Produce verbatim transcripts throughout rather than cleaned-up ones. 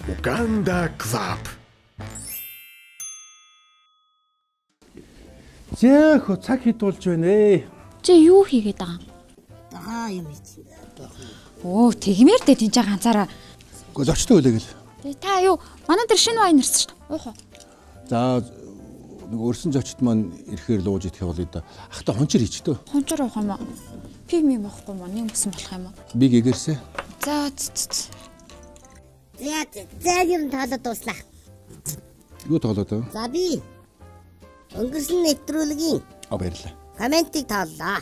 Uganda Club. Зээх цаг хэд болж байна ээ? Чи юу хийгээд байгаа юм? Аа юм хийж. Оо, тэгмээр дээ тийж ганцаараа. Гэхдээ зочтой үлээ гэл. Тэ та юу? Манай дээр шинэ вайн ирсэн шүү дээ. Уух уу. За нэг өрсөн зочд маань ирэхээр лууж идэх явуулъя да. Ах та хончор хийчтэй. Хончор уух юм аа. Пими моохгүй маа нэг бүсэн болох юм аа. Би гэгэрсэ. За цэц. За за юм таалаад дуслаа. Юу тоглоод вэ? За би өнгөрсөн нэвтрүүлгийн А баярлалаа. комментиг тааллаа.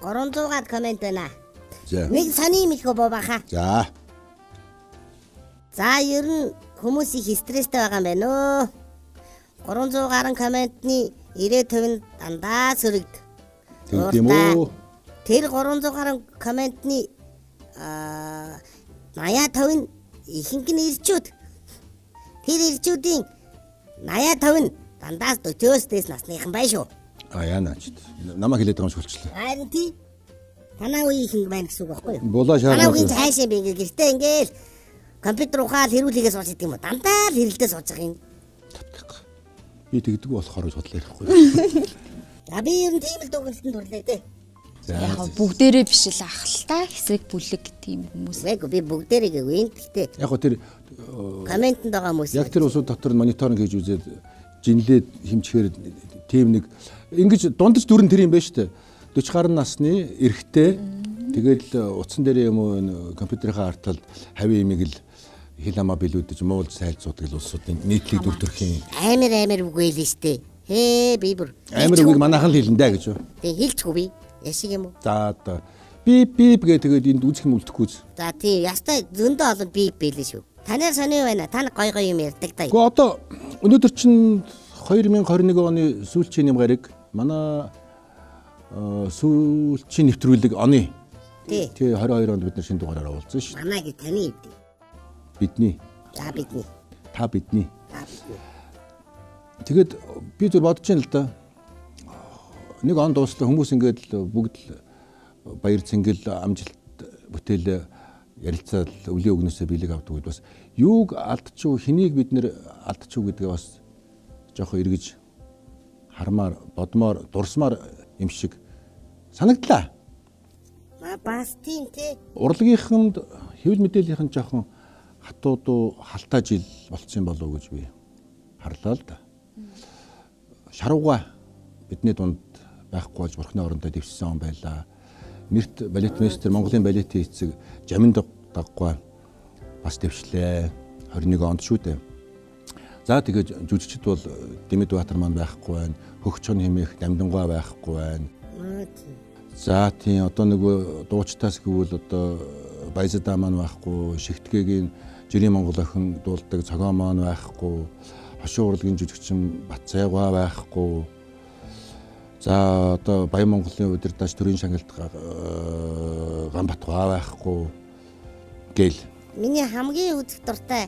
гурван зуугаар коммент байна. За. Нэг сони мэлхөө бабаха. За. За ер нь хүмүүс их стресстэй байгаа юм байна өө. гурван зуун гаруй комментны девяносто хувь нь дандаа сөрөгд. Тийм үү? Тэр гурван зуун гаруй комментны аа восемьдесят хувь нь ихэнх нь ирчүүд. Тэр ирчүүдийн восемьдесят хувь нь дандаа дөтөөс дэс насныхан бай шүү. А яанаач. Намаа хэлээд байгаа юм шүлчлээ. Харин тий. Танаа үеийн ихэнх байна гэсэн үг байхгүй юу? Булаа шаарна. Танаа үеийн цаашаа би ингээл гэртээ ингээл компьютер ухаал хэрүүлэгээ сууж идэв юм уу? Дандаа л хэрэлдээ сууж байгаа юм. Би тэгдэг болохоор бодлоо ярихгүй. За би ер нь тийм л дугуултанд турлаа дээ. Яг бүгдээрээ биш л ах л та хэсэг бүлэг тийм хүмүүс. Эгүй би бүгдээрээ гээгүй юм гэхдээ. Яг го тэр комментэнд байгаа хүмүүс. Яг тэр усууд дотор мониторинг хийж үзээд жинлээд хэмчгээр тийм нэг ингэж дундаж дүрэн тэр юм байна шүү дээ. forty гаруй насны эрэгтэй тэгэл утсан дээр юм уу компьютерийнхаа арталд хавийн имийг л хил хамаа билүүдэж муулж сайлцуудаг л улсуудын нийтлэг дүрдөрхийн амар амар үгүй л штэ. Хээ би бүр амар үгийг манайхан л хэлнэ даа гэж юу. Тэг хэлчихгүй би. Яшиг юм уу? За одоо би би гээ тэгээд энд үзэх юм үлдэхгүй. За тий ястай зөндөө олон би бэлээ шүү. Танаар сони байна. Та гой гой юм ярьдаг даа. Гэхдээ одоо өнөөдөр чинь two thousand twenty-one оны сүүлчийн юм гараг манай сүүлчийн нэвтрүүлэг оны тий twenty-two онд бид нар шинэ дугаараар уулзсан шүү. Манай гэж таны хэвдээ. Бидний. За бидний. Та бидний. Та бидний. Тэгэд би зөв бодож байна л да. Нэг он дууслаа хүмүүс ингээд л бүгд л баяр цэнгэл амжилт бүтээл ярилцаад өвлийн өгнөөсөө биелэг авдаг үед бас юуг алдчихв хэнийг бид нэр алдчихв гэдгээ бас жоохон эргэж хармаар бодмоор дурсмаар юм шиг санагдлаа. Ма бас тийм тий. Урлагийнханд хэвлэл мэдээллийнхэн жоохон хатуудуу халтаа жил болцсон болов уу гэж би харлаа л да. Шарууга бидний дунд байхгүй болж бурхны орондоо дэвшсэн он байлаа. Мэрт балетмейстер Монголын балетын эцэг Жаминд даггой бас дэвшлээ. twenty-one онд шүү дээ. За тэгээд жүжигчд бол Дэмэд Баатар маань байхгүй байна. Хөгчөн хэмээх Дамдангуй байхгүй байна. За тийм одоо нөгөө дуучтаас гэвэл одоо Баязада маань байхгүй, Шигтгээгийн Жирийн Монгол охин дуулдаг Цогоо маань байхгүй, Хошин урлагийн жүжигчин Батцайгаа байхгүй. За одоо Баян Монголын удирдаач төрийн шагналт Ганбатгаа байхгүй гэл. Миний хамгийн үзэх дуртай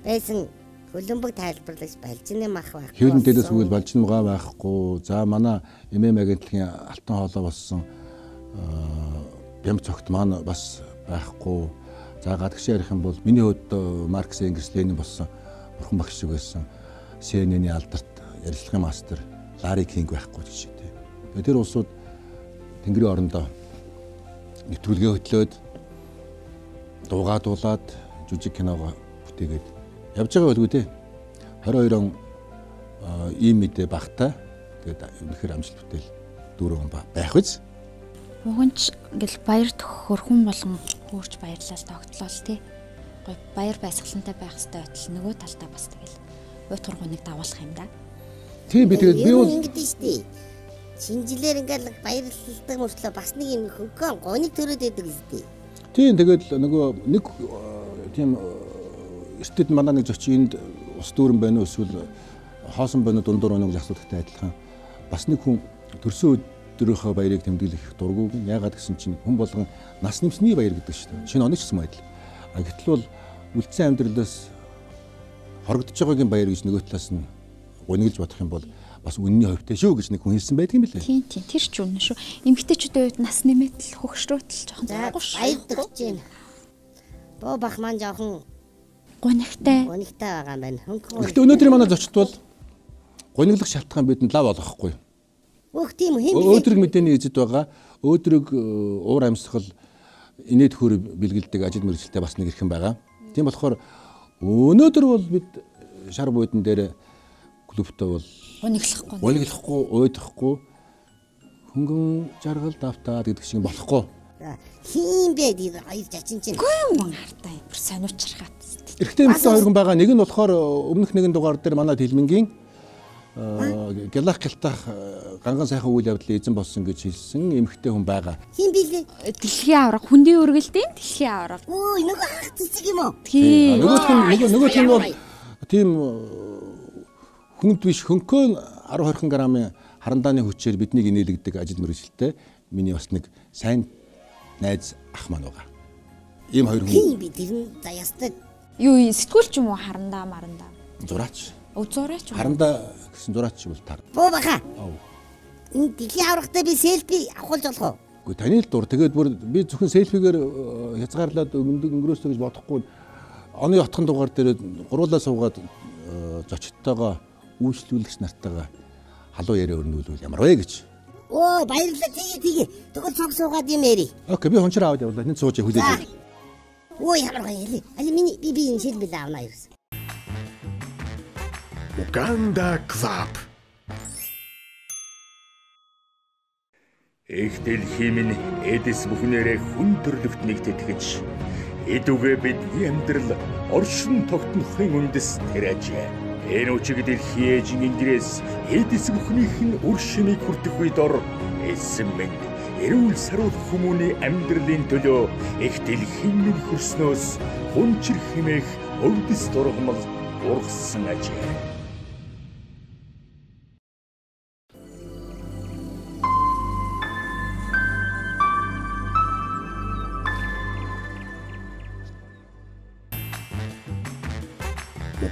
байсан хөлбөмбөг тайлбарлагч Балжины мах байхгүй. Хэвлэн дээрээс үйл Балжинмгаа байхгүй. За манай эм эм агентлагийн алтан хоолой болсон Бям цогт маань бас байхгүй. За гадагшаа ярих юм бол миний хувьд Маркс Энгельс Ленин болсон бурхан багш шиг байсан Си Эн Эн-ийн алдарт ярилцлагын мастер Ларри Кинг байхгүй гэж тийм. Тэгээд тэр улсууд Тэнгэрийн орондоо нэвтрүүлгээ хөтлөөд дуугаа дуулаад жүжиг киногоо бүтээгээд явж байгаа байлгүй дээ. twenty-two он ийм мэдээ багтаа тэгээд үнэхээр амжилт бүтээл дөрөв байх биз. Уганч ингээл баяр төхөрхөн болгон хөөрч баярлал тогтлол тий. Гой баяр баясгалантай байх хэрэгтэй байтал нөгөө талдаа бас тэгэл ой тургууныг давуулах юм да. Тийм би тэгээд би бол ингэдэж штий. Шинжилээр ингээл баярлалтай мөртлөө бас нэг юм хөнгөн гоныг төрөөд байдаг үстэй. Тийм тэгээд нөгөө нэг тийм эртэд манай нэг зочин энд ус дүүрэн байна уу эсвэл хоосон байна уу дундуур өнөг асуулттай адилхан бас нэг хүн төрсөн өдрийнхөө баярыг тэмдэглэх дургүйг яагаад гэсэн чинь хүн болгон нас нэмсний баяр гэдэг шүү дээ. Шинэ оны ч гэсэн адил. А гэтэл бол үлдсэн амьдралаас хорогдож байгаагийн баяр гэж нөгөө талаас нь гуниглж бодох юм бол бас үнний хувьтай шүү гэж нэг хүн хэлсэн байдаг юм билээ. Тийм тийм тэр ч үнэн шүү. Эмэгтэйчүүдийн үед нас нэмээд л хөгшрөөтл жоохон зааггүй шүү. Баярдагч байна. Боо бах маань жоохон гунигтай. гонигтай байгаа юм байна. Хөнгөн. Гэхдээ өнөөдрийн манай зочд бол гониглох шалтгаан бидэнд лав олохгүй. Өөх тийм үү хэм. Өөдрөг мэдээний эзэд байгаа. Өөдрөг уур амьсгал инээд хөр бэлгэлдэг ажил мэргэжилтэй бас нэг ирхэн байгаа. Тийм болохоор өнөөдөр бол бид шар буудан дээр клубтаа бол Гуниглахгүй. гуниглахгүй, уйдахгүй хөнгөн жаргал давтаад гэдэг шиг болохгүй. Хин бэ тэр хоёр жачин чинь. Гүн мөн хартаа бүр сониучрахад. Эрэгтэй эмэгтэй хоёр хүн байгаа. Нэг нь болохоор өмнөх нэгэн дугаар дээр манай Тэлмэнгийн гэлах гялтах ганган сайхан үйл явдлын эзэн болсон гэж хэлсэн эмэгтэй хүн байгаа. Хин билээ. Дэлхийн авраг хүндийн үргэлтийн дэлхийн авраг. Өө нөгөө ах цэцэг юм уу? Тийм. Нөгөөх нь нөгөө нөгөөх нь бол тийм хүнд биш хөнкөө арав хорхон грамын харандааны хүчээр биднийг инээлгдэг ажил мэргэжилтэй миний бас нэг сайн найз ах маань байгаа. Ийм хоёр хүн. Хин би тэр нь за ястаа. Юу сэтгүүлч юм уу харандаа марандаа. Зураач. Өвзөөрөөч юм. Харандаа гэсэн зураач бол тар. Боо баха. Энэ дэлхийн аврагтай би селфи авахулж болох уу? Гэхдээ таны л дур. Тэгээд бүр би зөвхөн селфигээр хязгаарлаад өнгөдөг өнгөрөөсөө гэж бодохгүй. Оны отхон дугаар дээр гуруулаа суугаад зочдтойгоо үйлчлүүлэгч нартайгаа халуун яриа өрнүүлвэл ямар вэ гэж. Оо баярлалаа тэгээ тэгээ. Тэгвэл цог суугаад юм яри. Окей би хончроо аваад явлаа. Энд сууж хүлээж. Оо ямар гоё яли. Али миний би би энэ шил бил авна ерөөс. Uganda Club. Их дэлхийн минь эдэс бүхнээрээ хүн төрлөخت нэгтгэж эдүгэ бидний амьдрал оршин тогтнохын үндэс тариажээ. Энэ үчиг дэлхийн ээжийн ингээс эдэс бүхнийх нь үр шимийг хүртэх үед ор эсэм минь эрүүл саруул хүмүүний амьдралын төлөө их дэлхийн минь хөрснөөс хүнчир хэмээх өвдөс дургамал ургасан ажээ.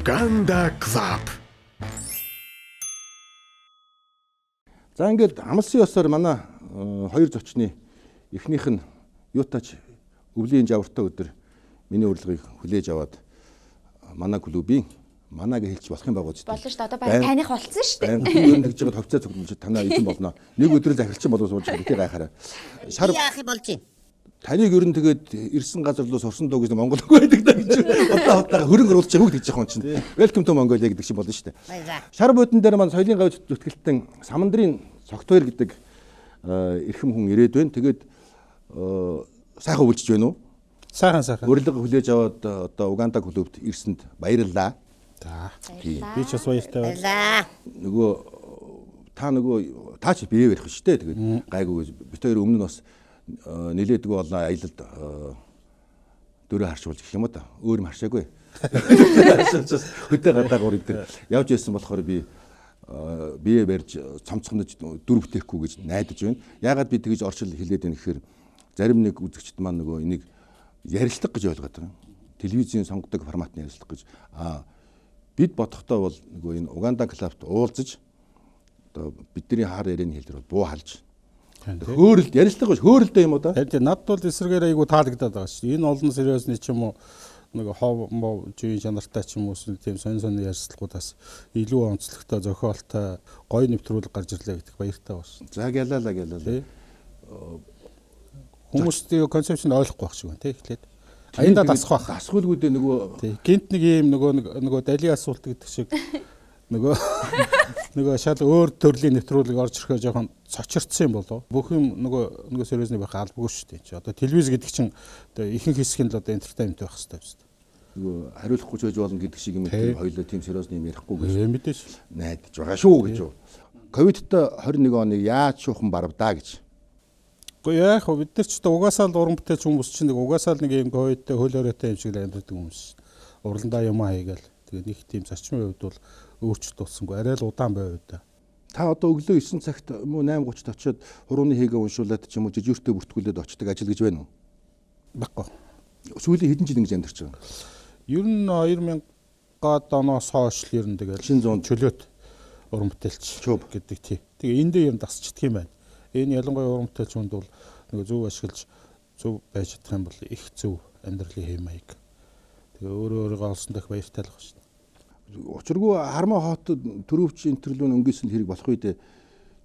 Uganda Club. За ингээд амлсан ёсоор манай хоёр зочны эхнийх нь юутач өвлийн жавартай өдөр миний урилгыг хүлээж аваад манай клубийн манайг хэлж болох юм байгаа үстэй. Болно шүү дээ. Одоо баяр таних болцсон шүү дээ. Баяр ер нь тэгж байгаа товцоо цогнож танаа эзэн болно. Нэг өдрөө захирчин болов сууж байгаа гайхаараа. Шар яах юм болж байна. Таныг ер нь тэгээд ирсэн газар руу сурсан дөө гэж Монгол үг байдаг даа гэж одоо удаага хөрөнгө оруулж байгаа үг гэж яах юм чинь. Welcome to Mongolia гэдэг шиг болно шүү дээ. Шар буудан дээр маань соёлын гавь зүтгэлтэн Самандрын Цогтойр гэдэг эрхэм хүн ирээд байна. Тэгээд сайхан өвлжж байна уу? Сайхан сайхан. Урилга хүлээж аваад одоо Уганда клубт ирсэнд баярлалаа. За. Би ч бас баяртай байна. Баярлаа. Нөгөө та нөгөө таа чи бие барих шүү дээ. Тэгээд гайгүй бит хоёр өмнө нь бас нилээдгүй болон аялалд дөрөв харшуулж гэх юм уу та. Өөр юм харшаагүй. Хөдөө гадаа гур идэг. Явж ирсэн болохоор би бие барьж цомцгонож дүр бүтээхгүй гэж найдаж байна. Яагаад би тэгж оршил хэлээд байна гэхээр зарим нэг үзэгчд маань нөгөө энийг ярилцлага гэж ойлгоод байна. Телевизийн сонгодог форматны ярилцлага гэж. Аа бид бодохдоо бол нөгөө энэ Уганда клубт уулзаж одоо бидний хаар ярианы хэлээр бол буу халж хөөрөлд ярилцлага биш хөөрөлдөө юм уу да? Тэгээд над бол эсрэгээр айгу таалагдаад байгаа шүү дээ. Энэ олон сериосны ч юм уу нэг хов мов жийн чанартай ч юм уу тийм сонь сонь ярилцлагуудаас илүү онцлогтой зохиолтой гоё нэвтрүүлэг гарч ирлээ гэдэг баяртай байна. За гялалаа гялалаа. Хүмүүс тийм концепцийг ойлгохгүй байх шиг байна тий эхлээд. Аяндаа дасах байх. Дасгуулгүүдээ нөгөө тий гинт нэг юм нөгөө нөгөө дали асуулт гэдэг шиг нөгөө нөгөө шал өөр төрлийн нэвтрүүлэг орж ирэхээ жоохон цочирдсан юм болов. Бүх юм нөгөө нөгөө сериосны байх албагүй шүү дээ. Чи одоо телевиз гэдэг чинь одоо ихэнх хэсэг нь л одоо entertainment байх хэрэгтэй шүү дээ. нөгөө хариулахгүй ч байж болно гэдэг шиг юм тийм хоёулаа тийм сериосны юм ярихгүй гэж мэдээж найдаж байгаа шүү гэж. Ковидтой двадцать one оныг яаж шуухан барвдаа гэж. Гэхдээ яах вэ бид нар ч одоо угаасаа л уран бүтээлч хүмүүс чинь нэг угаасаа л нэг юм ковидтэй хөлөөрөөтэй юм шиг амьдардаг хүмүүс. Уралдаа юм хаягаал. Тэгээ нэг тийм зарчмын хувьд бол өөрчлөлт болсонгүй арай л удаан байв да. Та одоо өглөө nine цагт муу eight thirty-д очиод хурууны хийгээ уншуулад ч юм уу жижигтэй бүртгүүлээд очдог ажил гэж байна уу? Баггүй. Сүүлийн хэдэн жил ингэж амьдарч байгаа. Ер нь two thousand оноос хойш л ер нь тэгэл шинэ зүүн чөлөөт уран бүтээлч гэдэг тий. Тэгээ энэ дээр ер нь дасчдаг юм байна. Энэ ялангуяа уран бүтээлч хүнд бол нэг зөв ашиглаж зөв байж чадах юм бол их зөв амьдралын хэм маяг. Тэгээ өөрөө өөрийгөө олсон дэх баяртай л байна шүү дээ. Учиргүй Хармаа хотод төрөвч интерлүүн өнгөсөн хэрэг болох үед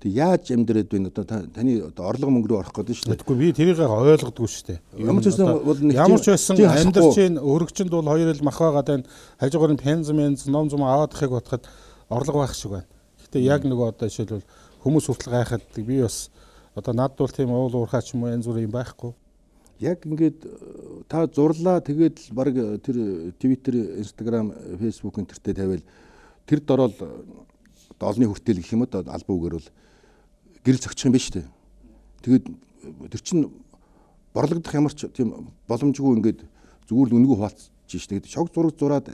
тэг яаж амьдраад байна одоо таны одоо орлого мөнгө рүү орох гэдэг шүү дээ. Тэгэхгүй би тэрийг ойлгодгүй шүү дээ. Ямар ч байсан бол нэг ямар ч байсан амьдрч чинь өргөчөнд бол хоёр ил мах байгаад байна. Хажуугаар нь пенз менз ном зум аваад ахыг бодоход орлого байх шиг байна. Гэхдээ яг нөгөө одоо жишээлбэл хүмүүс хүртэл гайхаад би бас одоо надд бол тийм уул уурхаа ч юм уу янз бүрийн байхгүй. Яг ингээд та зурлаа тэгээд баг тэр Twitter, Instagram, Facebook энтертэй тавиал тэр дорол олны хүртэл гэх юм уу албан үгээр бол гэрэл зөгчих юм биш үү? Тэгээд тэр чин борлогдох ямар ч тийм боломжгүй ингээд зүгээр л үнэгүй хуваалцж штэ. Тэгээд шог зураг зураад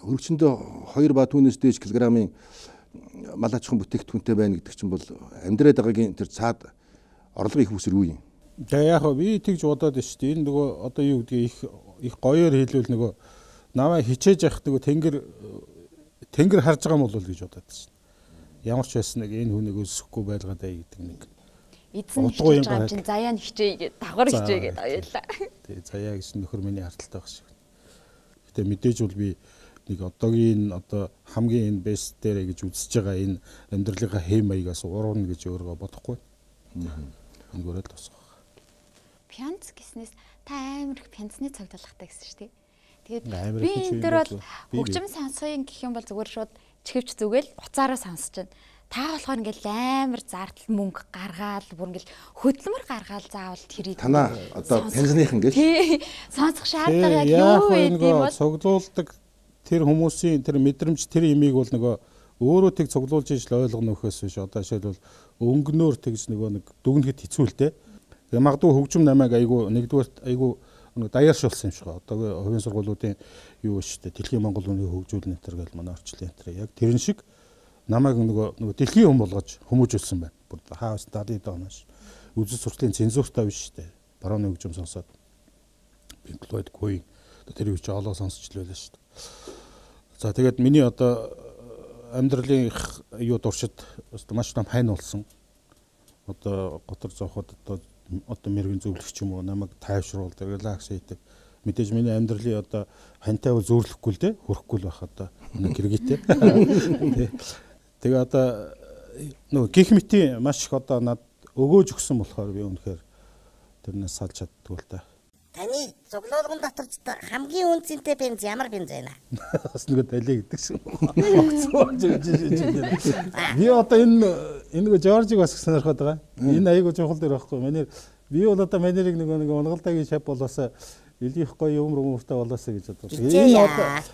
хөрөгчөндөө хоёр ба түүнээс дээш килограммын мал аж ахуйн бүтээгдэхүүнтэй байна гэдэг чинь бол амьдраад байгаагийн тэр цаад орлого их үсэр үе юм. Тэгээ яг би тэгж бодоод шүү дээ. Энэ нөгөө одоо юу гэдгийг их их гоёор хэлвэл нөгөө намайг хичээж явах нөгөө тэнгэр тэнгэр харж байгаа юм бол гэж бодоод шүү. Ямар ч байсан нэг энэ хүнийг өсөхгүй байлгаад бай гэдэг нэг. Эзэн хичээж байгаа чинь заяа нь хичээе гэдэг давхар хичээе гэдэг аюулаа. Тэгээ заяа гэж нөхөр миний харталтай байх шиг. Гэтэ мэдээж бол би нэг одоогийн одоо хамгийн энэ бест дээр гэж үзэж байгаа энэ амьдралынхаа хэм маягаас урууна гэж өөрөө бодохгүй. Өнгөрөөл тусах. Пянц гэснээс та амар их пянцны цогцолгохтай гэсэн шүү дээ. Тэгээд би энэ дөр бол хөгжим сонсхын гэх юм бол зүгээр шууд чихвч зүгэл уцаараа сонсож байна. Та болохоор ингээл амар зардал мөнгө гаргаал бүр ингээл хөдөлмөр гаргаал заавал тэрийг танаа одоо пенсионерхан гэж сонсох шаардлага яг юу вэ гэдэг бол цуглуулдаг тэр хүмүүсийн тэр мэдрэмж тэр имийг бол нөгөө өөрөө тэг цуглуулж ижил ойлгоно нөхөөс биш одоо жишээлбэл өнгөнөөр тэгж нөгөө нэг дүгнэхэд хэцүү л дээ. Тэгээ магадгүй хөгжим намайг айгу нэгдүгээр айгу нэг даяаршуулсан юм шиг байна. Одоо хувийн сургуулиудын юу шүү дээ. Дэлхийн Монгол үнийн хөгжүүлэн энэ гэж манай орчлын энэ яг тэрэн шиг намайг нөгөө нөгөө дэлхийн хүн болгож хүмүүжүүлсэн байна. Бүр хаус дадид доонош. Үзэл сурталын цензуртай биш шүү дээ. Барууны хөгжим сонсоод Pink Floyd Queen тэр үуч олоо сонсч л байлаа шүү дээ. За тэгээд миний одоо амьдралын юу дуршид маш том хань болсон. Одоо готор зоохот одоо одоо мэрэгэн зөвлөгч юм уу намайг тайвшруулдаг, релакс хийдэг. Мэдээж миний амьдралын одоо хантай бол зөөрлөхгүй л дээ, хөрөхгүй л байх одоо нэг хэрэгэтэй. Тэгээ одоо нөгөө гих мэтийн маш их одоо над өгөөж өгсөн болохоор би үнэхээр тэрнээс салж чаддгүй л та. Таны цуглуулгын дотор хамгийн үнцэнтэй бенз ямар бенз байна? Бас нөгөө далий гэдэг шиг. Би одоо энэ энэ нөгөө Жоржиг бас сонирхоод байгаа. Энэ аягүй чухал дээр байхгүй. Манай би бол одоо манерыг нөгөө нэг унгалдаагийн шав болоосаа илгийх гоё юмр өмөртэй болоосаа гэж боддог. Энэ одоо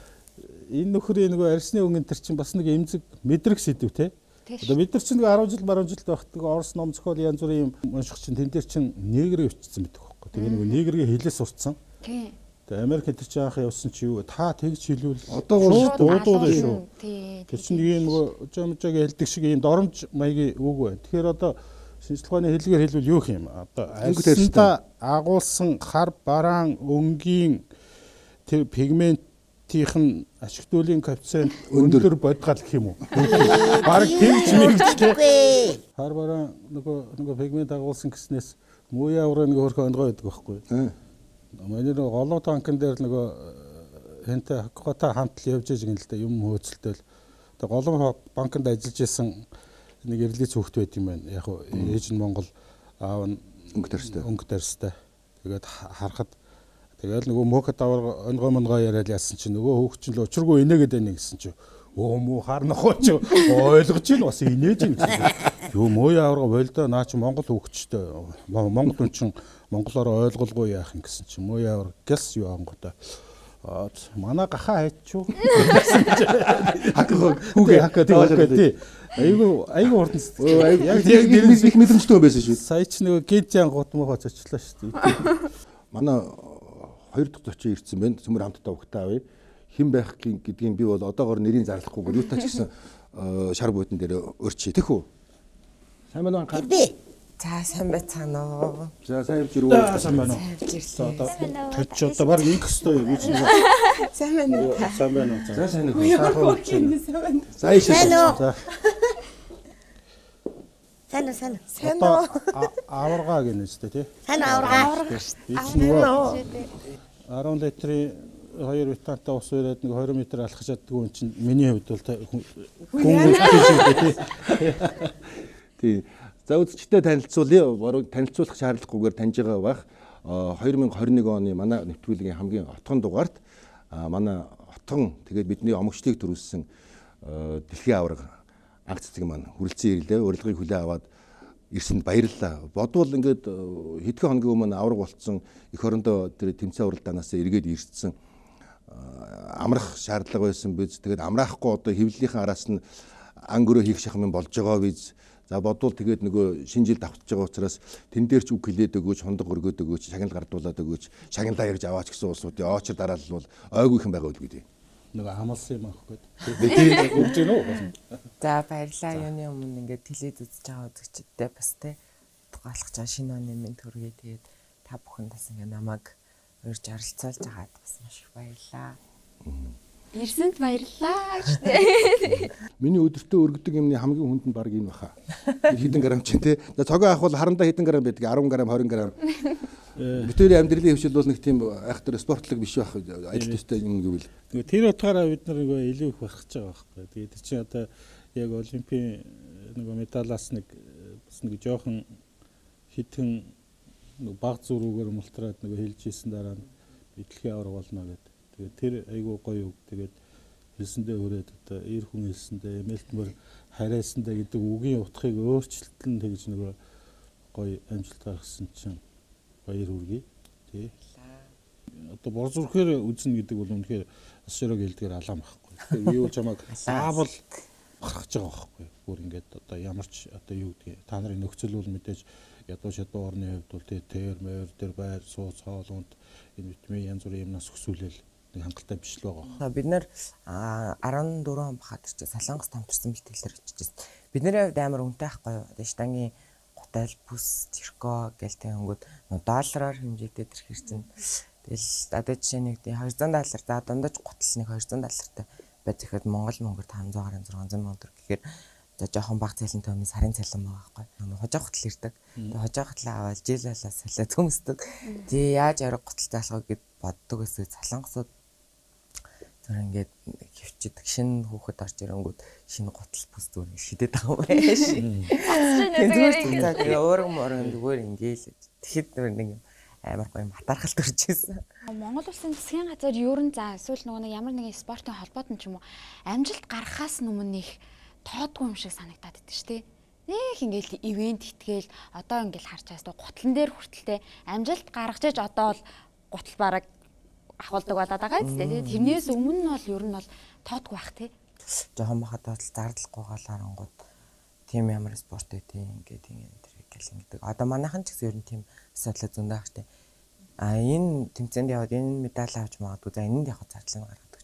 энэ нөхрийн нөгөө арсны өнгөн төр чинь бас нэг эмзэг мэдрэг сэдв те. Одоо бид нар чинь нөгөө арав жил баруун жилд байхад нөгөө Орос ном зохиол янз бүрийн юм унших чинь тэн дээр чинь негрээ өчсөн байдаг. Тэгээ нөгөө негрийн хэлээс сурцсан. Тий. Тэгээ Америкт тэр чинь анх явсан чи юу та тэгж хэлвэл одоо бол дуудууд шүү. Тий. Тэр чинь ийм нөгөө жамжааг хэлдэг шиг ийм доромж маягийн үг байна. Тэгэхээр одоо шинжлэх ухааны хэллэгээр хэлвэл юу юм? Одоо альсанда агуулсан хар бараан өнгийн тэр пигментийн ашигтуулын коэффициент өндөр бодгал гэх юм уу? Бараг тэгж мэгчтэй. Хар бараан нөгөө нөгөө пигмент агуулсан гэснээс мууя авраа нэг хөрхөө онгой байдаг байхгүй. Манай нөгөө голоо танкн дээр нөгөө хэнтэй хаккота хамтл явж байгаа юм л да юм хөөцөлтөл. Тэгээ голоо банкнд ажиллаж исэн нэг эрлээ цөөхт байт юм байна. Яг ээж нь Монгол аав нь өнгө тарьстай. Өнгө тарьстай. Тэгээд харахад тэгээд нөгөө мөөхөд авар онгой монгой яриад яасан чинь нөгөө хөөгч нь л учиргүй инээгээд байна гэсэн чинь өө муу харнахгүй ч ойлгож ийн бас инээж юм чинь. Юу мууя аварга болдоо наа чи Монгол хөөгчтэй Монгол хүн чинь монголоор ойлгуулгүй яах юм гэсэн чинь мууя авар гэс юу ангуудаа манай гахаа хайчуу хакаа хүүгээ хакаа тий айгу айгу урд нь яг яг их мэдрэмжтэй байсан шүү. Сая ч нөгөө гид янгууд муу хоцочлаа шүү дээ. Манай хоёр дахь зочин ирсэн байна. Цөмөр хамтдаа өгтөө авъя. Хэн байх гэдгийг би бол одоогоор нэрийг зарлахгүйгээр юу тач гэсэн шар буудан дээр өрчий. Тэх үү? Сайн байна уу? Би. За сайн байцгаана уу. За сайн явж ирвэ. Сайн байна уу? Одоо тавьч одоо баг инх өстой юу гэж нэг. Сайн байна уу? Сайн байна уу? За сайн уу? Сайн байна. За ишээ. За. Сайн уу, сайн уу. Сайн уу? Аваргаа гэнэ үстэй тий. Сайн аварга. арван литрийн хоёр витаминтай ус өрөөд нэг двадцать метр алхаж чаддаг хүн чинь миний хувьд бол хүн үлдээ тий. Тий. За үзэгчтэй танилцуулъя. Баруун танилцуулах шаардлагагүйгээр таньж байгаа байх. две тысячи двадцать один оны манай нэвтрүүлгийн хамгийн отгон дугаарт манай отгон тэгээд бидний омогчлыг төрүүлсэн дэлхийн аварга анх цэцэг маань хүрэлцэн ирлээ. Урилгыг хүлээн аваад ирсэнд баярлалаа. Бодвол ингээд хэдхэн хоногийн өмнө аварга болцсон эх орондоо тэр тэмцээн уралдаанаас эргээд ирсэн амрах шаардлага байсан биз. Тэгээд амраахгүй одоо хэвлэлийнхэн араас нь анги өрөө хийх шахам болж байгаа биз. За бодвол тэгээд нөгөө шинэ жил давтж байгаа учраас тэн дээр ч үг хэлээд өгөөч, хондог өргөөд өгөөч, шагнал гардуулаад өгөөч, шагналаа ярьж аваач гэсэн улсуудын оочор дараалал бол ойгүйхэн байгаа үл гэдэг. Нөгөө амалсан юм аахгүй. Тэгээд өгч гэнэ үү? За баярлалаа. Юуны өмнө ингээд телевиз үзэж байгаа үзэгчдтэй бас те тулгаалах чаа шинэ оны минь төргээ тэгээд та бүхэн бас ингээд намайг урьж оролцоолж байгаад бас маш их баярлалаа. Ирсэнд баярлалаа гэжтэй. Миний өдөртөө өргөдөг юмны хамгийн хүнд нь баг энэ баха. Хэдэн грамм ч тий. Цогоо авах бол харандаа хэдэн грамм байдаг? десять грамм, двадцать грамм. Бидний амьдралын хөвшил бол нэг тийм айхтар спортлог биш байх ажил төстэй юм гэвэл. Тэгээ тэр утгаараа бид нар нөгөө илүү их барах гэж байгаа байхгүй. Тэгээд чи одоо яг олимпийн нөгөө медалаас нэг бас нэг жоохон хитэн нөгөө баг зүрүүгээр мултраад нөгөө хэлж ийсэн дараа нь дэлхийн аварга болно гэдэг. Тэгээд тэр айгүй гоё үг. Тэгээд хэлсэндээ хүрээд одоо эр хүн хэлсэндээ мэлтмөр харайсандаа гэдэг үгийн утгыг өөрчлөлтөн тэгж нөгөө гоё амжилт гаргасан чинь баяр хүргэе. Тий. Одоо бор зүрхээр үзнэ гэдэг бол үнэхээр ас широг хэлдгээр алаам байхгүй. Тэгээд юу ч хамааг заавал гаргаж байгаа байхгүй. Бүр ингээд одоо ямар ч одоо юу гэдгийг та нарын нөхцөл бол мэдээж ядуу шатуу орны хувьд бол тэр мөр тэр байр сууц хоолунд энэ витамин янз бүрийн юмнаас өсвөлэл нэг хангалттай биш л байгаа. Бид нэр дөрвөн он бахад чи Солонгос тамтарсан бэлтгэлээр очижсэн. Бидний хувьд амар үнэтэй байхгүй юу? Одоо штангийн гутал бүс цирко гэлтэй хөнгөд доллараар хэмжээтэй тэр хэрцэн. Тэгэл одоо жишээ нэг двести доллар за дундаж гутал нэг двести доллартай байж ихэд Монгол мөнгөөр five hundred сix hundred мянган төгрөг гэхээр за жоохон баг цалинтай өмнө сарын цалин байгаа байхгүй. Хожоо гутал ирдэг. Тэгээ хожоо гутал аваад жилалаа салаад төмсдөг. Тий яаж арга гутал заалах гэд боддог гэсэн Солонгосууд тэр ингээд хөвчдөг шинэ хүүхэд орж ирэнгүүт шинэ гутал бүс зүгээр шидэт байгаа юм байна ши. Тэгээ өөрөө мөрөн зүгээр ингээл тэгэхэд нэг амар гоё матархалт төрж ирсэн. Монгол улсын засгийн газар ер нь за эсвэл нөгөө нэг ямар нэгэн спортын холбоод нь ч юм уу амжилт гаргахаас өмнө их тоодгүй юм шиг санагдаад идэв шүү дээ. Нэг ингээл ивент итгээл одоо ингээл харж байгаа гутлан дээр хүртэлтэй амжилт гаргаж иж одоо бол гутал бараг ахуулдаг болоод байгаа юм тийм. Тэрнээс өмнө нь бол ер нь бол тоодгүй бах тий. Жохон бахад бол зардлахгүй галаарангууд тийм ямар спорт байдیں۔ Ингээд ингээд тэр гэл ингээд. Одоо манайхан ч гэсэн ер нь тийм асуудал зөндөө ах тий. А энэ тэмцээнд яваад энэ медаль авч магадгүй. За энэнд яг зардлыг гаргадаг.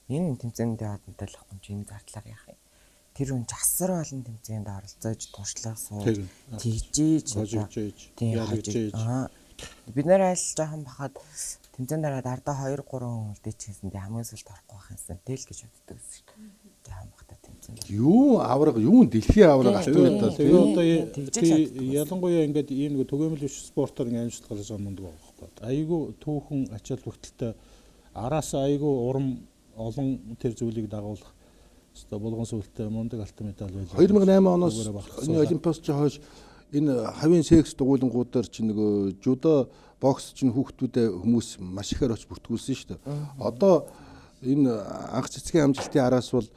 Энэ тэмцээнд яваад медаль авахгүй чи энэ зардлаар яах юм? Тэр хүн часар болон тэмцээнд оролцож туршлага сууж тэгжиж тэгжиж аа бид нэр айл жоохон бахад тэмцээнд дараад ардаа two three хүн үлдээчихсэн дээ хамгийн сүлд орохгүй байх юмсан тэл гэж боддог гэсэн шүү дээ. Жоохон бахад тэмцээнд. Юу авраг юу дэлхийн авраг алтууртаа тэгээ одоо ялангуяа ингээд ийм нэг түгээмэл биш спортоор ингээд амжилт гаргаж байгаа мундаг байгаа байхгүй. Айгүй түүхэн ачаал бүгдэлтэй араас айгүй урам олон тэр зүйлийг дагуулах өстой булган сүлттэй мундаг алтан медаль байлаа. two thousand eight оноос энэ олимпиас ч хойш энэ хавийн секс дугуулангуудаар чи нөгөө жудо бокс чинь хүүхдүүдэд хүмүүс маш ихээр оч бүртгүүлсэн шүү дээ. Одоо энэ анх цэцгийн амжилтын араас бол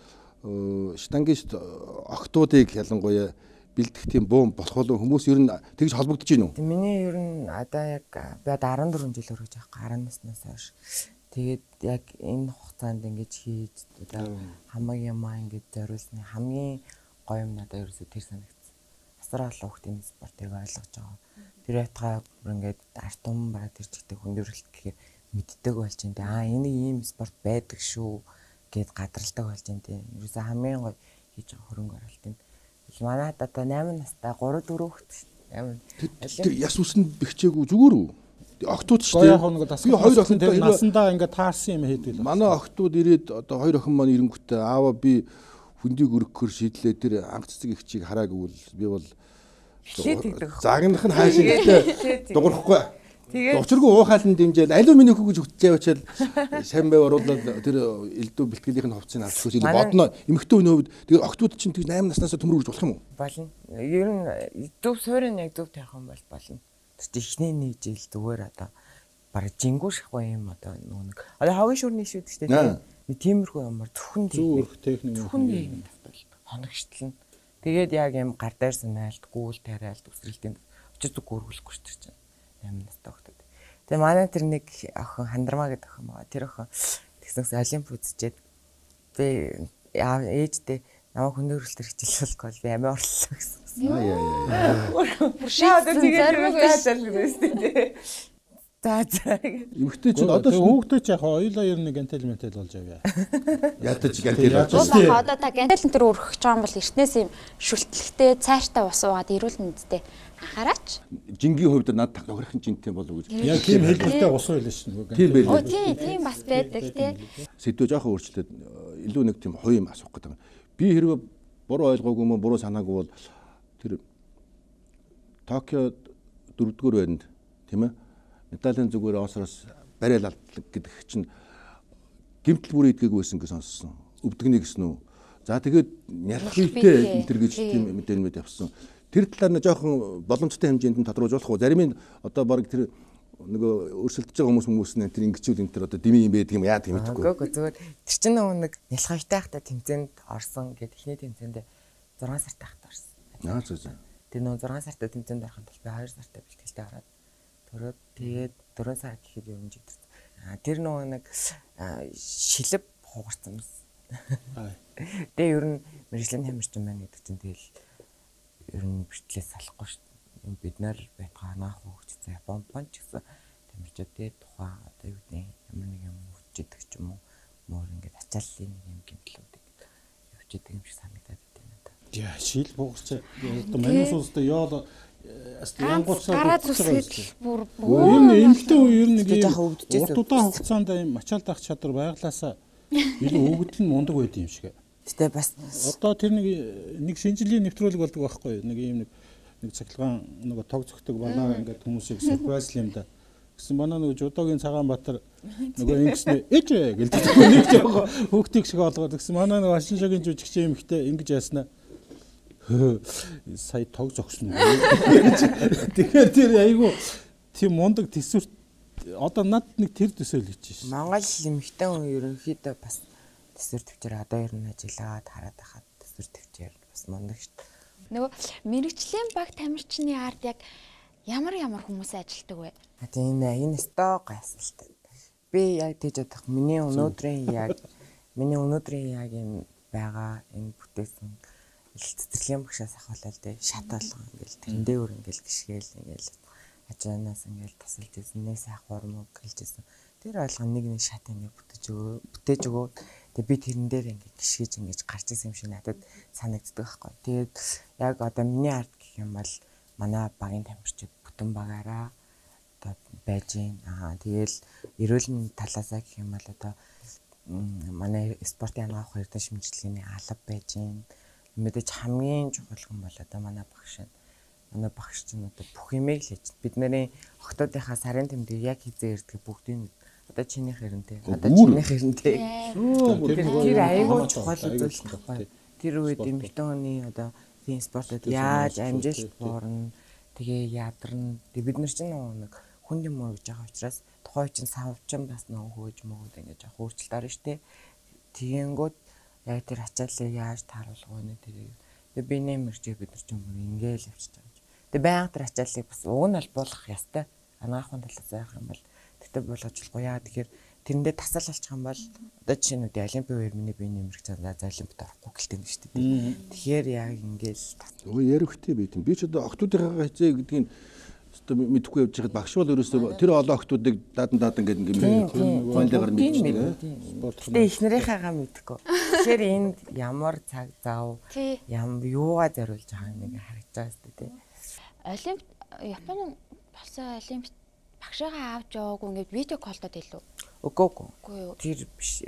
штангист октоодыг ялангуяа бэлдэх тийм бум болох бол хүмүүс ер нь тэгж холбогдож байна уу? Миний ер нь одоо яг би одоо fourteen жил өргөж байгаа ten наснаас хойш. Тэгээд яг энэ хугацаанд ингэж хийж одоо хамаг юмаа ингэж зориулсны хамгийн гоё юм надад ерөөсөө тэр санагдсан. Асар олон хүүхдийн спортыг ойлгож байгаа. Тэр байтгаа бүр ингээд арт тум бараг тэр чигтэй хүндрэлт гэхээр мэддэг болж байна. Аа энэ ийм спорт байдаг шүү гэд гадралдаг болж байна. Ерөөсөө хамгийн гоё хийж байгаа хөрөнгө оруулалт юм. Манайд одоо eight настай three four хүүхэд амар. Тэр яс үсэнд бэхжээгүй зүгээр үү? Охтууд ч тийм. Би хоёр охин тэр насандаа ингээд таарсан юм хийдэг л. Манай охтууд ирээд одоо хоёр охин маань ирэнгүүтээ аава би хүндийг өргөхөр шийдлээ тэр анх цэцэг ихчийг хараагүй бол би бол Загнах нь хаашаа гэдэг дуурахгүй. Тэгээд учиргүй уухаалн дэмжээл алюминий хүү гэж хөтжээ очил сайн байв оруулаад тэр элдв бэлтгэлийнх нь хувцсыг авах гэж бодно. Эмэгтэй хүний хувьд тэгээд октод чинь тэг восемь наснаас төмөрүүлж болох юм уу? Болно. Ер нь зөв суурин яг зөв тавих юм бол болно. Тэр ихнээний жил зүгээр одоо бараг жингүү шахгүй юм одоо нэг. Одоо хогийн шүрний шүүд ч тийм. Тиймэрхүү юмар зөвхөн зөвхөн техник зөвхөн юм тавтал. Хоногштлна. Тэгээд яг юм гар дээр санаалт, гүүл тариалт, өсрэлтийн очиж зүг гөргөлөхгүй ч тэр чинь. восемь настай хөлтөд. Тэгээ манай тэр нэг охин Хандармаа гэдэг охин байгаа. Тэр охин тэгснээс олимп үзчихэд би ээжтэй намайг хүндрэлтэр хичээлүүлэхгүй бол би амиа орлоо гэсэн. Аа яа яа. Шаа одоо тэгээд таажаал гэсэн тийм. За за. Эмэгтэй чинь Одоо хүүхдээ ч яг хоёулаа ер нь гантел ментал болж авъя. Ядаж гантел болж байна. Одоо та гантел энэ өргөх гэж байгаа юм бол эртнээс юм шүлтлэгтэй цайртай ус уугаад ирүүлнэ үсттэй. Анхаараач. Жингийн хувьд над тохирохын жинтэй болов гэж. Яг тийм хэлбэртэй ус байлаа шүү дээ. Тийм байлаа. Оо тийм тийм бас байдаг тий. Сэдвээ жоохон өөрчлөлтөд илүү нэг тийм хоёр юм асуух гэдэг. Би хэрвээ буруу ойлгоогүй юм буруу санаагүй бол тэр Токио дөрөвдүгээр байранд тийм ээ медалийн зүгээр Осроос барайл алдлаг гэдэг чинь гэмтэл бүрээ идгээгүй байсан гэж сонссон. Өвдөгний гэсэн үү. За тэгээд нялх хийтэй энэ төр гэж тийм мэдээлэлд явсан. Тэр талаар нь жоохон боломжтой хэмжээнд нь тодруулж болох уу? Зарим нь одоо баг тэр нөгөө өрсөлдөж байгаа хүмүүс хүмүүс нь тэр ингэчүүл энэ тэр одоо дими юм байдаг юм яадаг юм гэдэггүй. Үгүй зүгээр тэр чинь нэг нялхавтай хахта тэмцээнд орсон гэд ихний тэмцээнд зургаан сартай хахта орсон. Аа зөв зөв. Тэр нөгөө зургаан сартай тэмцээнд орохын тулд би хоёр сартай бэлтгэлтэй ороод төрөөд тэгээд дөрөв сар гэхэд юм жигдэрсэн. Аа тэр нөгөө нэг шилэв хугарсан юм. Тэгээ ер нь мэржлийн тамирчин байна гэдэг чинь тэгэл ер нь бичлээс салахгүй шүү дээ. Бид нар байтгаа наах хөгж за Япон ч гэсэн тамирчид тэгээ тухайн одоо юу гэдэг ямар нэг юм хөгжидэг ч юм уу мөр ингээд ачааллын нэг юм гэмтлүүдийг явчихдаг юм шиг санагдаад байна надад. Яа шил бугч одоо манайс улстай яол Гараа зүсгэл бүр ер нь эмхтэй үе ер нь нэг урт удаан хугацаанд юм ачаалт авах чадвар байглаасаа илүү өгдөл нь мундаг байд юм шиг. Гэтэ бас одоо тэр нэг нэг шинжилгээ нэвтрүүлэг болдог байхгүй нэг юм нэг нэг цахилгаан нөгөө тог зөгтөг банаа ингээд хүмүүсийг сюрприз юм да. Гэсэн банаа нөгөө Жудогийн Цагаанбаатар нөгөө ингэснэ ээжээ гэлдэг нэг жоо хүүхдийг шиг олгоод гэсэн манаа нөгөө Ашиншагийн жүжигчийн эмхтэй ингэж яаснаа сая тог зогсно. Тэгэхээр тэр айгу тийм мундаг төсвөрт одоо над нэг тэр төсөөл хийж байна. Монгол эмэгтэй хүн ерөнхийдөө бас төсвөр төвчээр одоо ер нь ажиллаад хараад байхад төсвөр төвчээр бас мундаг шүү дээ. Нөгөө мэрэгчлийн баг тамирчны ард яг ямар ямар хүмүүс ажилтдаг вэ? Тийм ээ энэ стоо гайсалтай. Би яг тийж бодох миний өнөөдрийн яг миний өнөөдрийн яг энэ байгаа энэ бүтээсэн цэцэрлэгийн багшаас ахвалал дээ шат болгоо ингээл тэрэндээ өөр ингээл гიშгээл ингээл ажаанаас ингээл тасалж ирсэн нэг сайхвар муу гэлжсэн тэр ойлгоо нэг нэг шат ингээд бүтэж өгөө бүтээж өгөө тэгээ би тэрэн дээр ингээд гიშгэж ингээд гарч ирсэн юм шиг надад санагддаг байхгүй тэгээд яг одоо миний ард гэх юм бол манай багийн тамирчид бүтэн багаараа одоо байж гин аа тэгээл эрүүл талаасаа гэх юм бол одоо манай спортын ангаах эрдэнэ шимжлэгийн алба байж гин мэдээж хамгийн чухал юм бол одоо манай багш нь манай багш чинь одоо бүх юмыг л хийж бидний октоодынхаа сарын тэмдэг яг хизээ ирдэг бүгдийг одоо чиний хэрэнтэй одоо чиний хэрэнтэй тэр аюул чухал үзүүлэлт байхгүй тэр үед эмэгтэйний одоо тийм спортод яаж амжилт буурна тэгээ ядарна бид нар чинь нэг хүн юм уу гэж байгаа учраас тухай чинь савчин бас нөө хөөж мөгөөд ингэж яг өөрчлөлт орно штэ тэгэнгүүт яг тэр ачааллыг яаж тааруулах вэ нэ тэрийг. Тэгээ би нэмэрчээ бид нар ч юм ингээл явчихж байгаа юм. Тэгээ байнга тэр ачааллыг бас уг нь бол буулгах ёстой. Анагаахын талаас яах юм бол тэгтээ болгож болохгүй яа тэгэхээр тэрэндээ тасал алчих юм бол одоо жишээ нь олимпийн үеэр миний бие нэмэрч чадаа за олимпиад орохгүй гэлтэй юм шүү дээ. Тэгэхээр яг ингээл өө ярихтэй байт юм. Би ч одоо октоодынхаа хязээ гэдгийг одоо мэдхгүй явж байхад багш бол ерөөсөө тэр олон октоодыг даадан даадан гэдэг юм гойлгаар мэдчихдэг. Гэтэ их нарийнхаагаа мэдхгүй. Тэгэхээр энд ямар цаг зав ям юугаа зориулж байгаа нэг харагдаж байгаа шүү дээ. Олимп Японы болсон олимпиад багшаагаа авч яваагүй ингээд видео колдод илүү. Үгүй үгүй. Тэр биш.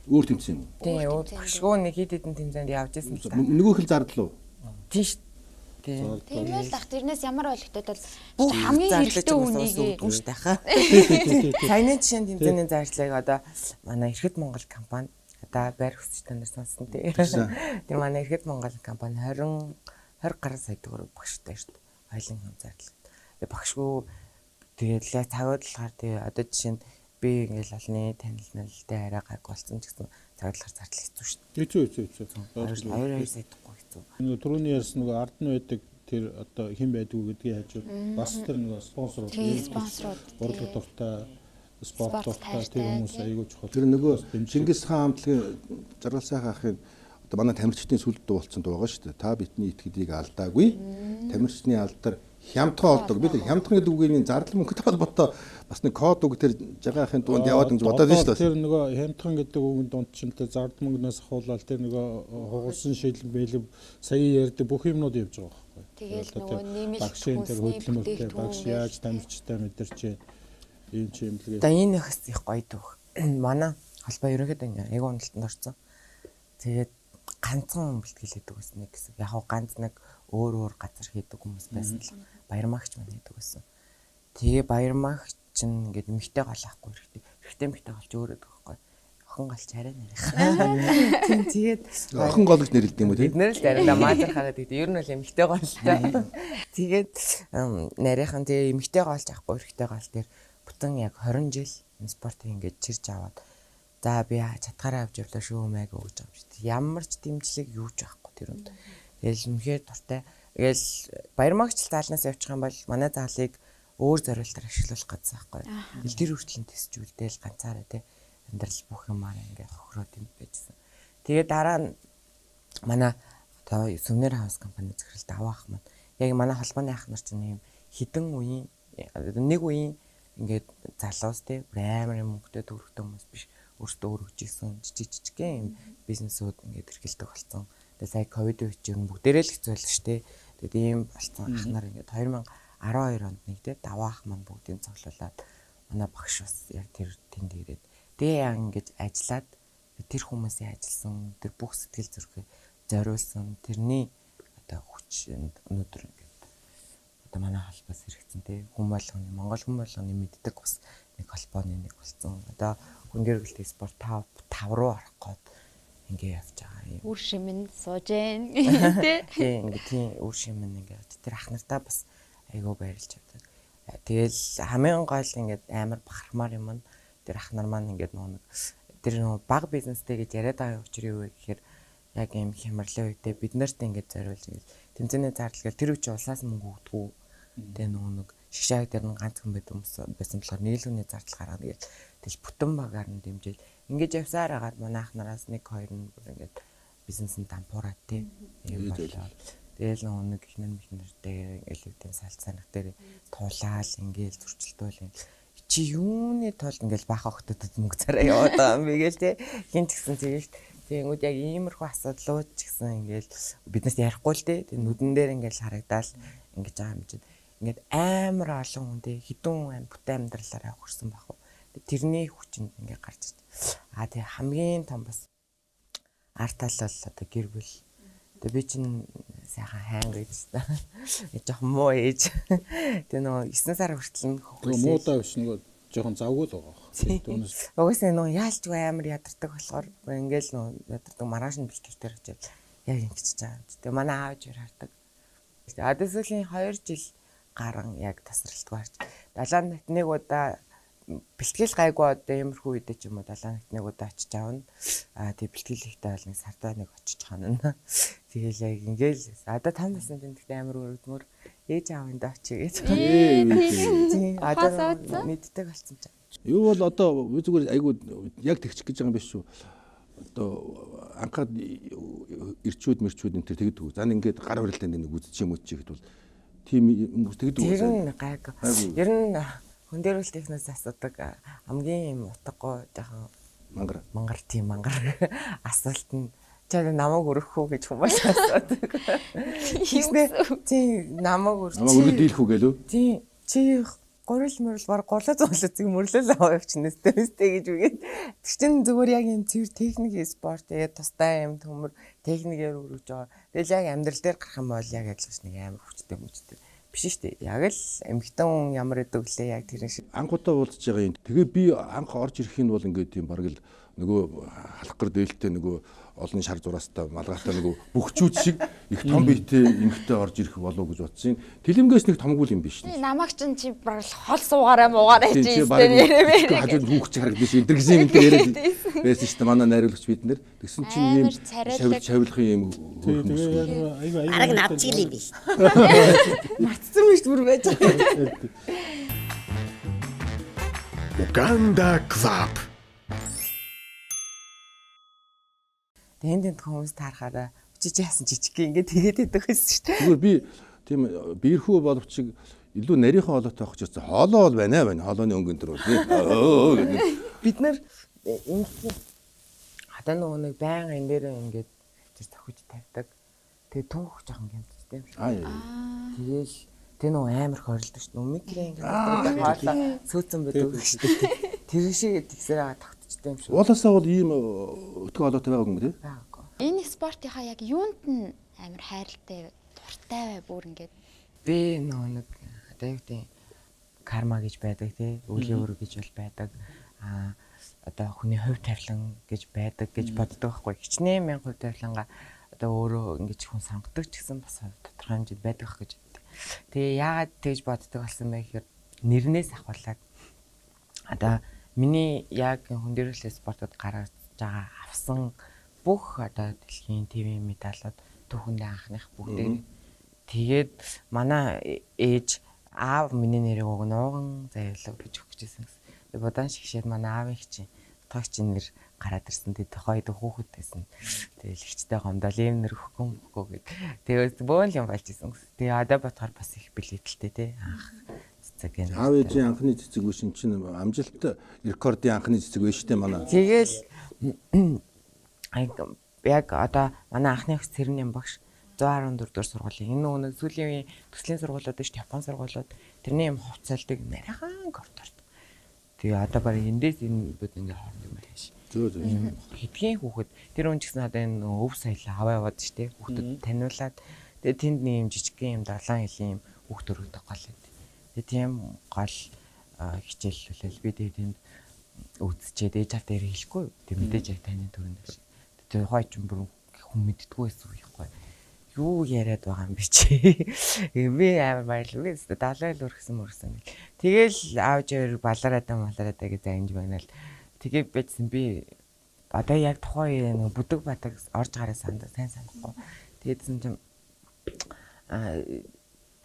Өөр тэмцээн юм. Тийм өөр багшгүй нэг хэд хэдэн тэмцээнд явж ирсэн л та. Нөгөөх л зардлуу. Тийш. Тийм л ах тэрнээс ямар ойлгохтой бол хамгийн хэрэгтэй үнийг өгдөн шүү дээ хаа. Саяны жишээнд тэмцээний зарцлыг одоо манай Ирэхэд Монгол компани одоо байр хөсч та нар сонсон тий. Тэр манай Ирэхэд Монгол компани двадцать двадцать гаруй сая төгрөг багштай шүү дээ. Хоёлын хүн зарлаг. Тэгээ багшгүй тэгээд л цагаад болохоор тэгээ одоо жишээ нь би ингээл олны танил нэлтэй арай гайг болсон ч гэсэн цагаад болохоор зарлах хэцүү шүү дээ. Хэцүү хэцүү хэцүү. Хоёр хоёр сайдахгүй хэцүү. Нөгөө түрүүний ярьсан нөгөө ард нь байдаг тэр одоо хэн байдгүй гэдгийг хажууд бас тэр нөгөө спонсорууд спонсорууд урлаг дуртай спорт дуртай тэр хүмүүс аягүй чухал. Тэр нөгөө Чингис хаан хамтлагийн Жаргал сайхан ахын одоо манай тамирчдын сүлд дуу болсон дуу байгаа шүү дээ. Та бидний итгэдийг алдаагүй. Тамирчны алдар хямдхан олдог. Бид хямдхан гэдэг үгийн зардал мөнгөтэй холбоотой бас нэг код үг тэр жагаахын дунд яваад гэж бодоод байна шүү дээ. Тэр нөгөө хямдхан гэдэг үгийн дунд ч тэр зардал мөнгнөөс хавуулаад тэр нөгөө хугалсан шийдэл бэлэв сая ярьдаг бүх юмнууд явж байгаа байхгүй. Тэгэл нөгөө нэмэлт багшийн тэр хөдөлмөртэй багш яаж тамирчтай мэдэрч ийм ч юм лгээ. За энэ их их гоё дөх. Манай холбоо ерөөхдөө ингээ яг уналтанд орсон. Тэгээд ганцхан бэлтгэл хийдэг байсан нэг гэсэн. Яг гоо ганц нэг өөр өөр газар хийдэг хүмүүс байсан л баярмагч маань хийдэг байсан. Тэгээ баярмагч чинь ингээд эмхтэй гол ахгүй хэрэгтэй. Эрэгтэй эмхтэй голч өөрөө дөхөхгүй. Охин голч арай нарийнх. Тэгээд охин гол гэж нэрлэдэг юм уу тийм? Бид нэр л дайраа маажар хагаад гэдэг. Ер нь бол эмхтэй голтой. Тэгээд нарийнхан тэгээ эмхтэй голч ахгүй эрэгтэй гол дээр бүтэн яг двадцать жил энэ спортыг ингээд чирж аваад за би чатгаараа авч явлаа шүү мэй гэж байгаа юм шиг. Ямар ч дэмжлэг юу ч байхгүй тэр үнд. Тэгэл үнэхээр дуртай. Тэгэл баярмагч заалнаас явчих юм бол манай заалыг өөр зориултаар ашиглуулах гэсэн байхгүй. Ил тэр хүртэл төсчүүлдээл ганцаараа тий амьдрал бүх юмараа ингээд хохироод юм байжсэн. Тэгээ дараа нь манай одоо Сүмнэр хаус компани захиралд аваах маань яг манай холбооны ах нар чинь юм хідэн үеийн нэг үеийн ингээд залуус тий амар юм мөнгөтэй төгрөгтэй хүмүүс биш өөртөө өргөж исэн жижиг жижигхэн юм бизнесүүд ингээд эрхэлдэг болсон. Тэгээ сая ковид үед ч юм бүгдээрээ л хэцүү байлаа шүү дээ. Тэгээд ийм болсон ах нар ингээд две тысячи десять онд нэг тий даваах маань бүгдийг цоглуулад манай багш бас яг тэр тэнд ирээд тэгээ яг ингээд ажиллаад тэр хүмүүсийн ажилласан тэр бүх сэтгэл зүрхээ зориулсан тэрний одоо хүч өнөөдөр ингээд одоо манай холбоос хэрэгцэн тий хүн болгоны Монгол хүн болгоны мэддэг бас нэг холбооны нэг болсон. Одоо хүн гэргэлтэй спорт тав руу орох гээд ингээ явж байгаа юм. Үр шимэн сууж гэн тий. Тий ингээ тий үр шимэн ингээ тэр ах нартаа бас айгуу баярлж байна. Тэгэл хамгийн гол ингээ амар бахармаар юм нь тэр ах нар маань ингээ нэг тэр нэг баг бизнестэй гэж яриад байгаа учраас юу вэ гэхээр яг юм хямралын үедээ бид нарт ингээ зориулж ингээ тэмцээний зардал тэр үчи улсаас мөнгө өгдөг. Тэгээ нөгөө нэг шгшааг дээр нь ганц хүн байдаг хүмүүс байсан болохоор нийлүүний зардал гаргана гэж тэл бүтэн багаар нь дэмжиж ингэж явсаар агаад манай ах нараас нэг хоёр нь ингээд бизнесэнд дампуураад тий юм болоо. Тэгэл нөгөө нэг ихнэр мэхнэртэй элевдийн салцаанах дээр тулаал ингээл зурчилтуул чи юуны тулд ингээл баах охтодод мөнгө цараа яваад байгаа юм бэ гээл тий хин ч гэсэн тэгэл тэгэнгүүт яг иймэрхүү асуудлууд ч гэсэн ингээл биднээс ярихгүй л тий нүдэн дээр ингээл харагдаал ингэж байгаа юм чинь ингээд амар олон хүн тий хідэн хүн бүтэн амьдралаараа хөрсөн баг. Тэрний хүчинд ингээ гарч ирж. Аа тэгээ хамгийн том бас артал бол одоо гэр бүл. Тэгээ би чинь сайхан хайнг гэж та. Жохон муу ээж. Тэгээ нөгөө девять сар хүртэл нь хөөс. Муудаа биш нөгөө жохон завгүй л байгаа. Түүнээс угсаа нөгөө яалчгүй амар ядардаг болохоор ингээл нөгөө ядардаг маргааш нь бэлтгэр дээр очив. Яг ингэж чаа. Тэгээ манай аав жир хардаг. Адэсөлийн хоёр жил гарan яг тасралтгүй харж. Далайн нэгт нэг удаа бэлтгэл гайгүй одоо иймэрхүү үедээ ч юм уу далайн нэгт нэг удаа очиж аавна. Аа тэг бэлтгэл ихтэй бол нэг сардаа нэг очиж ханана. Тэгэл яг ингээл одоо там байсан тэмдэгт амар өрөвдмөр ээж аавын даа очие гэж. Тийм одоо мэддэг болсон ч. Юу бол одоо би зүгээр айгуу яг тэгчих гэж байгаа юм биш шүү. Одоо анхаад ирчүүд мэрчүүд энэ тэр тэгдэг. За ингээд гар барилтанд нэг үзчих юм уу чи гэхэд бол тийм хүмүүс тэгдэг. Тэр нь гайг. Ер нь хүн дээр үл технос асуудаг хамгийн юм утгагүй жоохон мангар мангар тийм мангар асуулт нь чад намайг өргөх үү гэж хүмүүс асуудаг. Тийм намайг өргөх. Намайг өргөд дийлэх үү гэлөө? Тийм чи гурил мөрөл баг гурлаа зуулцыг мөрлөл аваа явчихнаас тэмстэй гэж үгээд. Тэр чинь зүгээр яг юм цэвэр техник спорт тэгээ тустай юм төмөр техникээр өргөж байгаа. Тэгэл яг амьдрал дээр гарах юм бол яг адилхан нэг амар хүчтэй хүчтэй биш шүү дээ. Яг л эмхтэн хүн ямар гэдэг лээ яг тэр шиг. Анхудаа уулзж байгаа юм. Тэгээ би анх орж ирэх нь бол ингээд тийм бараг л нөгөө халах гэр дээлтэй нөгөө олон шар зураастай малгайтай нөгөө бөхчүүд шиг их том биетэй эмхтэй орж ирэх болов гэж бодсон. Тэлэмгээс нэг томгүй юм биш үү? Намайг чинь чи бараг хол суугаараа муугаараа чи өстэй нэрэмээ. Хажууд хүүхч харагдаж шин интергсэн юм дээр яриад байсан шүү дээ. Манай найруулагч бид нэр. Тэгсэн чинь ийм шавил шавилхын юм. Араг навчил юм биш. Матцсан биш бүр байж. Uganda Club. Тэнд тэнд хүмүүс таарахаараа үчиж яасан жижиг ингээд тэгээд идэх байсан шүү дээ. Зүгээр би тийм биерхүү боловч илүү нарийнхан хоолойтой авах гэж хоолоо бол байна байна. Хоолойны өнгөн төр бол бид нар ингээд хатаа нөгөө нэг байнга энэ дээр ингээд тэр тохиж тавьдаг. Тэгээд түүх жоохон гэмттэй юм шиг. Аа. Тэгээл тэр нөгөө амар хорилдог шүү дээ. Микрэн ингээд хоолоо сөөцөн байдаг шүү дээ. Тэр шиг тэгсээр тогтчтой юм шиг. Уулаасаа бол ийм өтгөө хоолойтой байгаа юм тий? Энэ спортынхаа яг юунд нь амар хайртай дуртай бай бүр ингээд би нөгөө нэг одоо юу гэдэг карма гэж байдаг тий үлийн өрөө гэж бол байдаг а одоо хүний хувь тавилан гэж байдаг гэж боддог байхгүй хичнээн мянга хувь тавиланга одоо өөрөө ингэж хүн сонгодог ч гэсэн бас тодорхой хэмжээнд байдаг гэж боддог. Тэгээ яагаад тэгж боддог болсон бэ гэхээр нэрнээс ахвалаад одоо миний яг хүн дээрээс спортод гаргаж байгаа авсан бүх одоо дэлхийн ТV медалууд түүхэндээ анхных бүгдээ. Тэгээд манай ээж аав миний нэрийг уг нууган зайлуу гэж өгчээсэн. Тэгээд бодан шигшээд манай аавын чинь тогч нэр гараад ирсэн. Тэгээд хойд хүүхэд байсан. Тэгээд ихчтэй гомдол ийм нэр өгөхгүй мөхгүй гэд. Тэгээд бөөн юм болж исэн. Тэгээд одоо бодохоор бас их билетэлтэй тий анх цэцэг гэнэ. Аав ээжийн анхны цэцэг ү신 чинь амжилт рекордын анхны цэцэг байж тээ манай. Тэгэл яг одоо манай анхны эх цэрний багш one hundred fourteen дугаар сургуулийн энэ нэг сүүлийн үеийн төслийн сургуулиуд шүү Япон сургуулиуд тэрний юм хувцалдаг нарийнхан коридорт. Тэгээ одоо баг эндээс энэ бид ингээ хоорд юм ааш. Зөө зөө. Хэдхэн хүүхэд тэр хүн ч гэсэн одоо энэ өв саялаа аваа яваад штэ хүүхдэд таниулаад тэгээ тэнд нэг юм жижигхэн юм далайн хилийн юм хүүхд өргөдөг гол. Тэгээ тийм гол хичээллүүлэл би тэгээ тэнд үзчихэд ээж автаа хэлэхгүй. Тэг мэдээж яг таны төрөнд байна. Тэр хойч бүр хүн мэддэггүй байсан байхгүй. Юу яриад байгаа юм бэ чи? Би амар баярлав. Би далай л өргсөн мөрсөн. Тэгэл аавж өөр балараадаа малараадаа гэж заанж байна л. Тэгээ бийсэн би одоо яг тухайн нэг бүдэг батаг орж гараа санд сайн санахгүй. Тэгээдсэн чинь а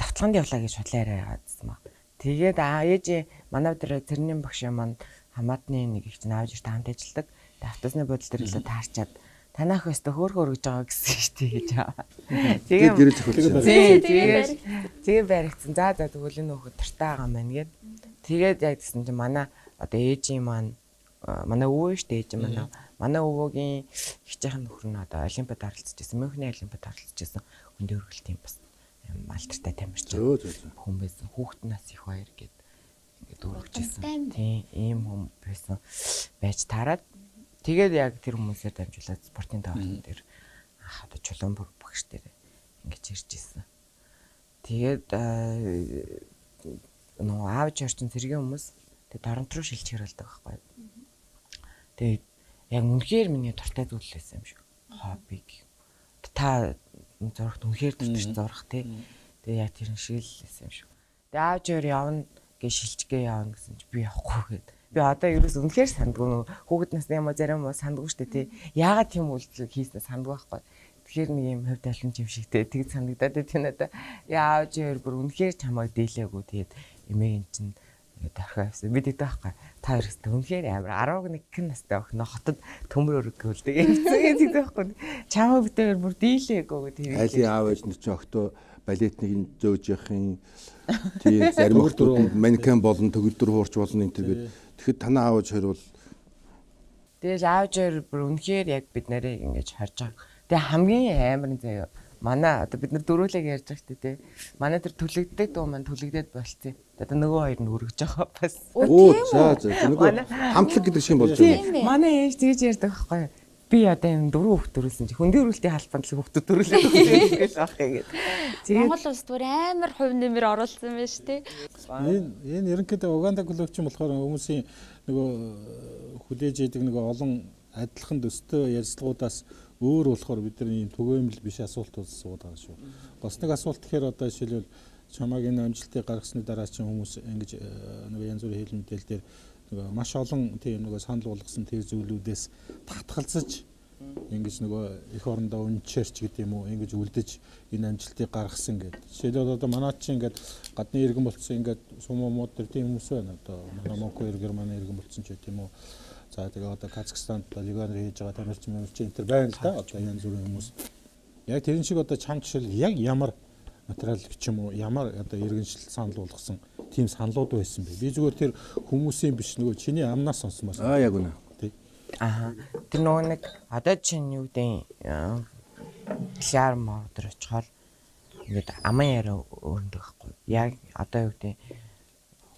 тавталганд явлаа гэж худлаарай яадсан ба. Тэгээд аа ээж манай дээр тэрний багш маань хамаатны нэг их чинь аавж ирт хамт ажилладаг. Автосны бодол дээр л таарчаад танах өстө хөөр хөргөж байгаа гэсэн шүү дээ гэж аваа. Тэгээ гэрэл зохиолсон. Тэгээ тэгээ баригдсан. За за тэгвэл энэ хөхөд тартай байгаа юм байна гэд. Тэгээд яг гэсэн чинь манай одоо ээжийн маань манай өвөө шүү дээ ээж манай. Манай өвөөгийн хичээхэн нөхөр нь одоо олимпиад оролцож байсан. Мөнхний олимпиад оролцож байсан. Хүнд өргөл тийм бас малтартай тамирч. Хүн байсан. Хүүхэд нас их баяр гэд ингээд өргөжсэн. Тийм ийм хүн байсан байж таарад. Тэгээд яг тэр хүмүүсээр дамжуулаад спортын даваалт дээр одоо чулуун багш дээр ингэж ирж ирсэн. Тэгээд нөө аавч орчин зэргийн хүмүүс тэгээд Торонто руу шилжих хэрэгэлдэг байхгүй. Тэгээд яг үнэхээр миний дуртай зүйл байсан юм шиг. Хобби. Та зурагт үнэхээр дуртай зурах тий. Тэгээд яг тэр шиг л байсан юм шиг. Тэгээд аавч өөр явна гэж шилжгээ явна гэсэн чи би явахгүй гээд. Би одоо ерөөс үнэхээр сандгүй хүүхэд насны юм зарим уу сандгүй штэ тий. Яагаад тийм үйлдэл хийснэ сандгүй байхгүй. Тэгэхээр нэг юм хувь талын юм шигтэй тэг санагдаад тийм надаа. Яавч өөр бүр үнэхээр чамайг дийлээгүй тэгээд эмээгийн чинь дарахаа явсан. Би тэгдэг байхгүй. Та хоёрстай үнэхээр амар eleven настай охин хотод төмөр өргөөл тэгээд тэгдэг байхгүй. Чамайг битээр бүр дийлээгүй гэдэг. Айлын аав ээж нь ч октоо балетны зөөж яхин тийм зарим хүмүүс манекен болон төгөлдөр хуурч болно энэ тэгээд тэгэхэд танаа аавч хоёр бол тэгэл аавч хоёр бүр үнэхээр яг бид нарыг ингэж харж байгаа. Тэгээ хамгийн амар нь заяа манай одоо бид нар дөрүүлэг ярьж байгаа шүү дээ. Манай тэр түлэгддэг дуу маань түлэгдээд болцсон. Одоо нөгөө хоёр нь өргөж байгаа бас. Оо за за нөгөө хамтлаг гэдэг шиг болж байна. Манай ээж тэгж ярьдаг байхгүй юу? Би одоо юм дөрөв хүүхд төрүүлсэн чи хөндийн өрүүлтийн халбанд л хүүхдүүд төрүүлээд байгаа гэж аах юм гээд. Монгол улс бүр амар хувь нэмэр оруулсан байна шүү дээ. Энэ энэ ерөнхийдөө Уганда клубч юм болохоор хүмүүсийн нөгөө хүлээж идэг нөгөө олон адилхан төстэй ярилцлагуудаас өөр болохоор бидний түгээмэл биш асуулт сууд байгаа шүү. Бас нэг асуулт гэхээр одоо жишээлбэл чамааг энэ амжилтыг гаргасны дараа чинь хүмүүс ингэж нөгөө янз бүрийн хэл мэдээлэл дээр нөгөө маш олон тийм нөгөө санал болгосон тэр зүйлүүдээс татгалзаж ингэж нөгөө их орондоо үнчээрч гэдэг юм уу ингэж үлдэж энэ амжилтыг гаргасан гэдэг. Жишээлбэл одоо манайд чинь ингээд гадны иргэн болцсон ингээд сумомууд төр тийм хүмүүс байна. Одоо манай Монго Германы иргэн болцсон ч гэдэг юм уу. За тэгээ одоо Казахстанд полигоноор хийж байгаа тамирчин мэрчин энэ төр байна л да. Одоо янз бүрийн хүмүүс. Яг тэрэн шиг одоо чам жишээл яг ямар материал гэх юм уу ямар одоо иргэншил санал болгосон тийм саналууд байсан бэ. Би зүгээр тэр хүмүүсийн биш нөгөө чиний амнаас сонсомоос. Аа яг үнэ. Тий. Аа. Тэр нөгөө нэг одоо чинь юу гэдэг шаар модер очихоор ингээд аман яриа өрнөдөг байхгүй. Яг одоо юу гэдэг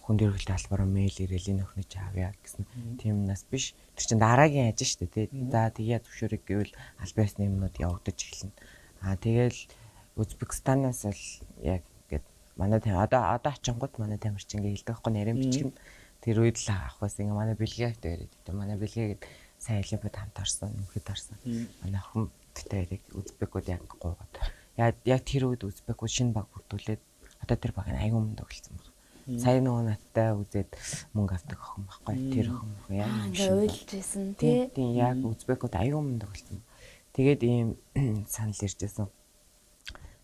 хүнд эргэлт албараа мэйл ирээл энэ өхнөж авъя гэсэн тийм нас биш. Тэр чин дараагийн ажил шүү дээ тий. За тэгээ зөвшөөрөг гэвэл аль байсны юмнууд явагдаж эхэлнэ. Аа тэгэл Узбекистанаас л яг ингээд манай тийм одоо одоо очингууд манай тамирчин ингээд хэлдэг байхгүй нарийн бичих нь тэр үед л авах байсан. Ингээ манай бэлгээд яриад гэдэг. Манай бэлгээд сайн олимпиад хамт орсон, нөхөд орсон. Манай охин гэдэг яг Узбекууд яг гоогаад. Яг яг тэр үед Узбекууд шинэ баг бүрдүүлээд одоо тэр баг аягүй мөнд өгөлцсөн баг. Сайн нөгөө надтай үзээд мөнгө авдаг охин байхгүй. Тэр охин яг ингээ уйлж байсан тий. Тийм яг Узбекууд аягүй мөнд өгөлцсөн. Тэгээд ийм санал ирж байсан.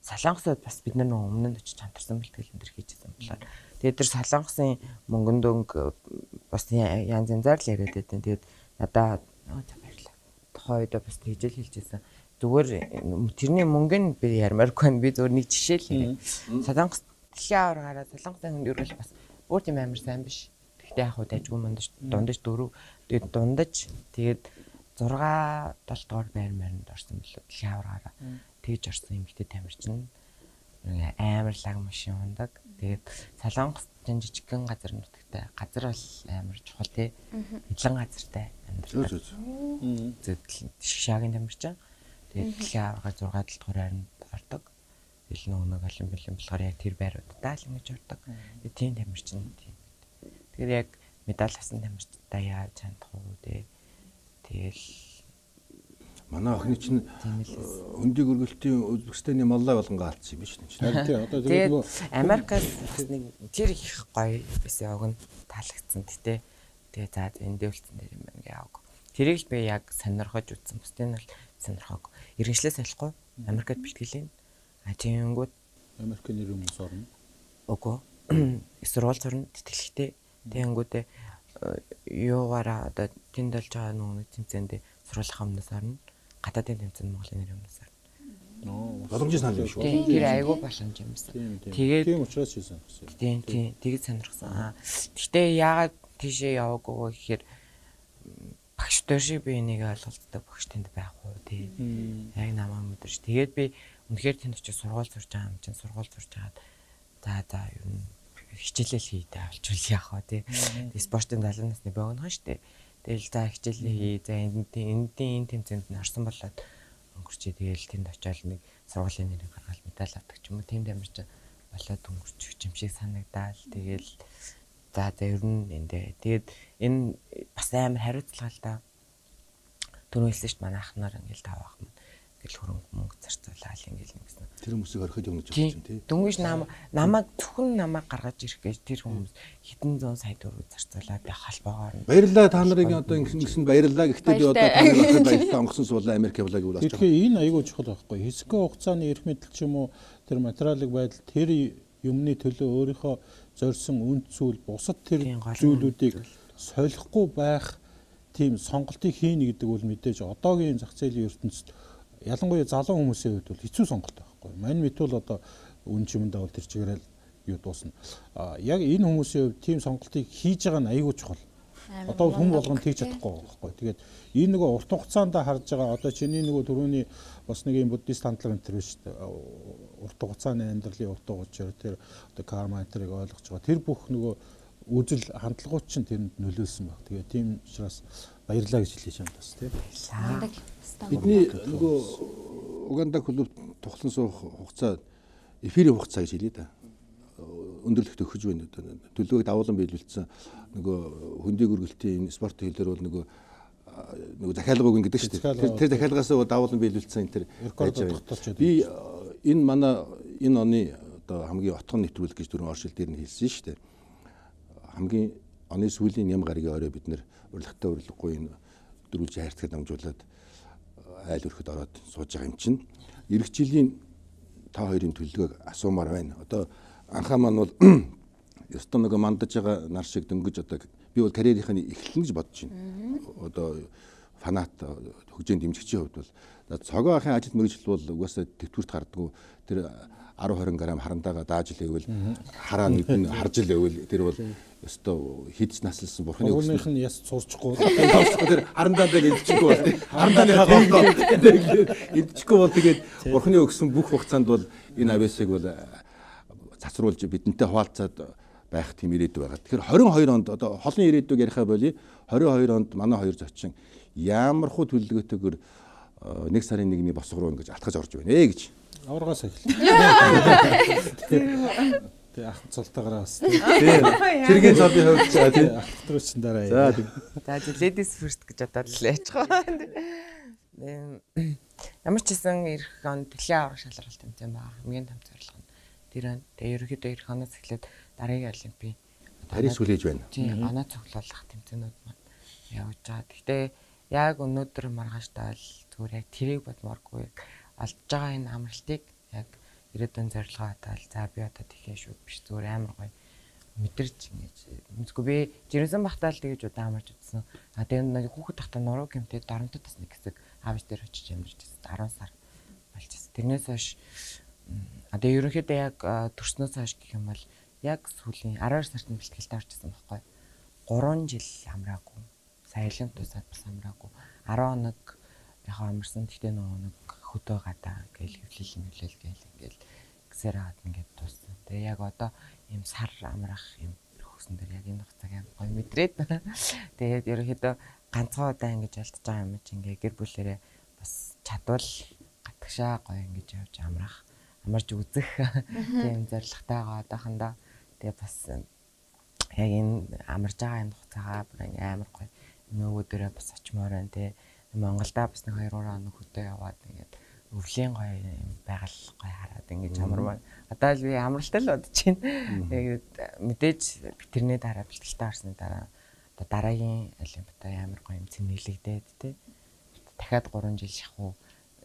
Солонгосод бас бид нар нөгөө өмнө нь очиж хамтарсан бэлтгэл энэ төр хийжсэн болохоор тэгээд тэр солонгосын мөнгөн дөнгө бас янз янзаар л яриад байдیں۔ Тэгээд надаа баярлаа. Тухайн үед бас тэгжэл хэлжсэн. Зүгээр тэрний мөнгө нь би ярмааргүй байна. Би зүгээр нэг жишээ л хэлээ. Солонгос дэлхийн аваар гараад солонгосын хүн ерөөл бас өөр тийм амар сайн биш. Гэхдээ яг хуу дайггүй мандаж дундаж дөрөв тэгээд дундаж тэгээд зурга долоо дугаар байр маринд орсон билүү дэлхийн аваар гараа. Тэгж орсон эмэгтэй тамирчин амар лаг машин ундаг. Тэгээд Солонгос жижигхэн газар нутагтай. Газар бол амар чухал тий. Эдлэн газартай амьдрал. Зөв шишагийн тамирчин. Тэгээд дэлхийн аварга зурга дугаар байранд ордог. Ил нэг олимпиадын болохоор яг тэр байруудаа л ингэж ордог. Тэгээд тийм тамирчин тийм. Тэгэхээр яг медаль авсан тамирчтай яаж хандах уу тий. Тэгэл манай охины чинь өндөг өргөлтийн Узбекистаны маллай болгонгаа алдсан юм биш үү? Тийм одоо тэгээд нөгөө Америкаас бас нэг тэр их гоё байсан яг нь таалагдсан тий. Тэгээ за эндээ үлдсэн дээр юм байна гээ аваг. Тэрийг л би яг сонирхож үзсэн. Бусдын нь сонирхоог. Иргэншлээс салахгүй Америкт бэлтгэлээ. А тиймгүүд Америкийн нэр хүмүүс орно. Үгүй. Сургууль зурна тэтгэлэгтэй. Тэнгүүдээ юугаараа одоо тэнд болж байгаа нөгөө тэмцээндээ сургуулийн өмнөөс орно. Гадаадын тэмцээнд Монголын нэр өмнөөс орно. Ноо. Боломжтой санал юм шүү. Тэр айгүй боломж юм байна. Тэгээд тийм учраас хийсэн. Тийм тийм тэгээд сонирхсан. Гэхдээ яагаад тийшээ яваагүй гэхээр багш дээр шиг би энийг ойлголцдог багш тэнд байх уу тий. Яг намаа мэдэрч. Тэгээд би үнэхээр тэнд очиж сургууль сурж байгаа юм чинь сургууль сурж хагаад за за ер нь хичээлэл хийдэ авчвал яах вэ тий. Спортын залуу насны богино штэ. Тэгэл за хичээлээ хий. За энд энд энэ тэмцээнд нь орсон болоод өнгөрчээ. Тэгэл тэнд очиод нэг сургуулийн нэрийг гаргаад медаль авдаг ч юм уу. Тэм тамирч болоод өнгөрчих юм шиг санагдаал. Тэгэл за за ер нь эндээ. Тэгээд энэ бас амар хариуцлага л да. Түрүү хэлсэн шүү дээ манай ах нар ингээл таваах юм. Ингээл хөрөнгө мөнгө зарцуулаад ингээл нэгсэн. Тэр хүмүүсийг орхиж өгнө гэж байна тий. Дөнгөж нам намайг зөвхөн намайг гаргаж ирэх гэж тэр хүмүүс хэдэн зуун сая төгрөг зарцуулаад байх холбоогоор. Баярлалаа та нарыг одоо ингэсэн баярлалаа. Гэхдээ би одоо та нарыг ахад баярлалаа онгоцсон суулаа Америк явлаа гэвэл асууж. Тэгэхээр энэ аягүй чухал байхгүй. Хэсэгэн хугацааны эрх мэдэл ч юм уу тэр материалын байдал тэр юмны төлөө өөрийнхөө зорьсон үнд зүйл бусад тэр зүйлүүдийг солихгүй байх тийм сонголтыг хийнэ гэдэг бол мэдээж одоогийн зах зээлийн ертөнцид ялангуяа залуу хүмүүсийн хувьд бол хэцүү сонголт байхгүй. Мань мэт бол одоо үн чимэндээ бол тэр чигээрэл юу дуусна. А яг энэ хүмүүсийн хувьд тийм сонголтыг хийж байгаа нь аягүй чухал. Одоо хүн болгон тэгж чадахгүй байхгүй. Тэгээд энэ нөгөө урт хугацаанд харж байгаа одоо чиний нөгөө түрүүний бас нэг юм буддист хандлага энэ төр шүү дээ. Урт хугацааны амьдралын утга учир тэр одоо карма энтрийг ойлгож байгаа. Тэр бүх нөгөө үзэл хандлагууд чинь тэрэнд нөлөөлсөн баг. Тэгээд тийм учраас баярлалаа гэж хэлж байна бас тийм. Бидний нөгөө Уганда клуб тухлан суух хугацаа эфирийн хугацаа гэж хэлээ да. Өндөрлөгт өгч байна. Төлөвийг давуулан биелүүлсэн нөгөө хөндөг өргөлтийн спорт хэлээр бол нөгөө нөгөө захиалга өгнө гэдэг шүү дээ. Тэр захиалгаас давуулан биелүүлсэн энэ тэр байж байгаа. Би энэ манай энэ оны одоо хамгийн отгон нэвтрүүлэг гэж дөрвөн оршил дээр нь хэлсэн шүү дээ. Хамгийн оны сүүлийн ям гарагийн орой бид нэр урилгатай урилгагүй энэ дөрвөлжин хайрцагт дамжуулаад айл өрхөд ороод сууж байгаа юм чинь. Ирэх жилийн та хоёрын төлөвлөгөөг асуумаар байна. Одоо анхаа маань бол ёстой нөгөө мандаж байгаа нар шиг дөнгөж одоо би бол карьерийнхаа эхлэн гэж бодож байна. Одоо фанат хөгжөөнд дэмжигчийн хувьд бол цогоо ахын ажил мэргэжил бол угаасаа төвтгүрт гардггүй тэр десять двадцать грамм харандаага дааж л ивэл хараа нүдэн харж л ивэл тэр бол ёстой хидс наслсан бурхны өгсөн. Өөрийнх нь яс цуурчихгүй. Тэр харандааг идчихгүй бол харандааны хоолтой идчихгүй бол тэгээд бурхны өгсөн бүх хугацаанд бол энэ авэсыг бол цацруулж бидэнтэй хуваалцаад байх тийм ирээдүй байгаа. Тэгэхээр двадцать two онд одоо холын ирээдүйг ярихаа боли двадцать two онд манай хоёр зочин ямархуу төлөвлөгөөтэйгээр нэг сарын нэгний босго руу ингэж алтгаж орж байна ээ гэж. Аваргаас эхэллээ. Тэг ах цолтойгоор бас. Тэргийн цолын хувьд за тий ахтрууч дараа. За за ladies first гэж бодоод л яаж байгаа. Ямар ч гэсэн ирэх он дэлхийн аврах шалралт тэмцээн байгаа. Хамгийн том зорилго нь тэр он. Тэгээ ерөөхдөө ирэх оноос эхлээд дараагийн олимпийн Парис хүлээж байна. Тий, оноо цуглуулах тэмцээнүүд маань явж байгаа. Гэхдээ яг өнөөдөр маргааштай л зүгээр яг тэрийг бодмооргүй алдж байгаа энэ амралтыг яг ирээдүйн зорилгоо хатаал за би одоо тийхээ шүү биш зүгээр амар гоё мэдэрч ингэж мэдгүй би жирэмсэн бахтаал тэгэж удаа амарч утсан. А тэгээд нэг хүүхэд тахта нуруу гэмтээ доронтод бас нэг хэсэг аавч дээр очиж ямарч байсан. десять сар болчихсон. Тэрнээс хойш а тэгээд ерөнхийдөө яг төрснөөс хойш гэх юм бол яг сүүлийн twelve сард нь бэлтгэлтэй орчихсон байхгүй. three жил амраагүй. Саялын тусаад бас амраагүй. ten хоног яг амарсан. Тэгтээ нөгөө нэг хөдөө гадаа гээл хөвлөл нөлөөл гээл ингээл гисээр хаад ингээд дууссан. Тэгээ яг одоо ийм сар амрах юм хөөсөн дээр яг энэ хугацааг амар гоё мэдрээд. Тэгээд ерөнхийдөө ганцхан удаа ингэж алдж байгаа юм чи ингээ гэр бүлэрээ бас чадвал гатгшаа гоё ингэж явж амрах, амарч үзэх тийм зорилготой байгаа одоохондоо. Тэгээ бас яг энэ амарж байгаа энэ хугацаагаа амар гоё нөгөө дээрээ бас очимоор байна те. Монголда бас нэг two хоног хөдөө яваад ингээд өвлийн гоё юм байгаль гоё хараад ингээд амармаа. Одоо л би амралтай л бодож байна. Тэгээд мэдээж тэрний дараа бэлтгэлтэй орсны дараа одоо дараагийн олимпиадаа амар гоё юм цэнэглэгдээд те. Дахиад three жил шахуу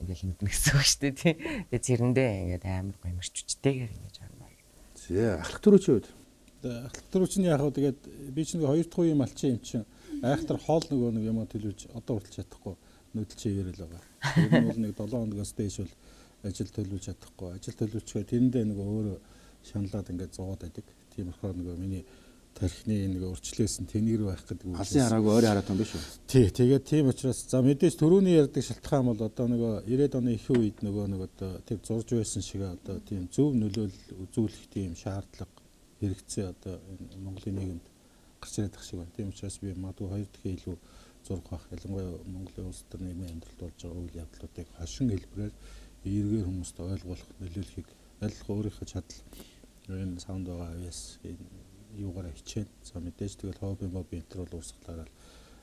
ингээд мэднэ гэсэн үг шүү дээ тий. Тэгээд зэрэндээ ингээд амар гоё мөрчүчтэйгээр ингээд амаар. Зэ ахлах төрөөч үед. Ахлах төрөөчний яг хаа тэгээд би ч нэг хоёр дахь үеийн малчин юм чинь айхтар хоол нөгөө нэг юм төлөвж одоо хүртэл чадахгүй нүүдэлч ивэл байгаа. Тэр нь бол нэг seven хоногоос дээш бол ажил төлөвлөж чадахгүй. Ажил төлөвлөчгөө тэрэндээ нөгөө өөрөө шаналаад ингээд зовоод байдаг. Тийм болохоор нөгөө миний тархины нөгөө өрчлөөсөн тэнийг рүү байх гэдэг үг. Алсын хараагүй ойрын хараад юм биш үү? Тий, тэгээд тийм учраас за мэдээж төрөний ярьдаг шалтгаан бол одоо нөгөө ninety оны их үед нөгөө нэг одоо тэр зурж байсан шиг одоо тийм зөв нөлөөлөл үзүүлэх тийм шаардлага хэрэгцээ одоо Монголын нийгэмд гарч ирээд тах шиг байна. Тийм учраас би магадгүй хоёр дахин илүү зураг авах ялангуяа Монголын улс төр нийгмийн амьдралд болж байгаа үйл явдлуудыг хашин хэлбэрээр эргээр хүмүүст ойлгуулах, нөлөөлөхийг аль өөрийнхөө чадал энэ саунд байгаа авьяас юугаараа хичээн. За мэдээж тэгэл хобби мобби энэ төр бол урсгалаараа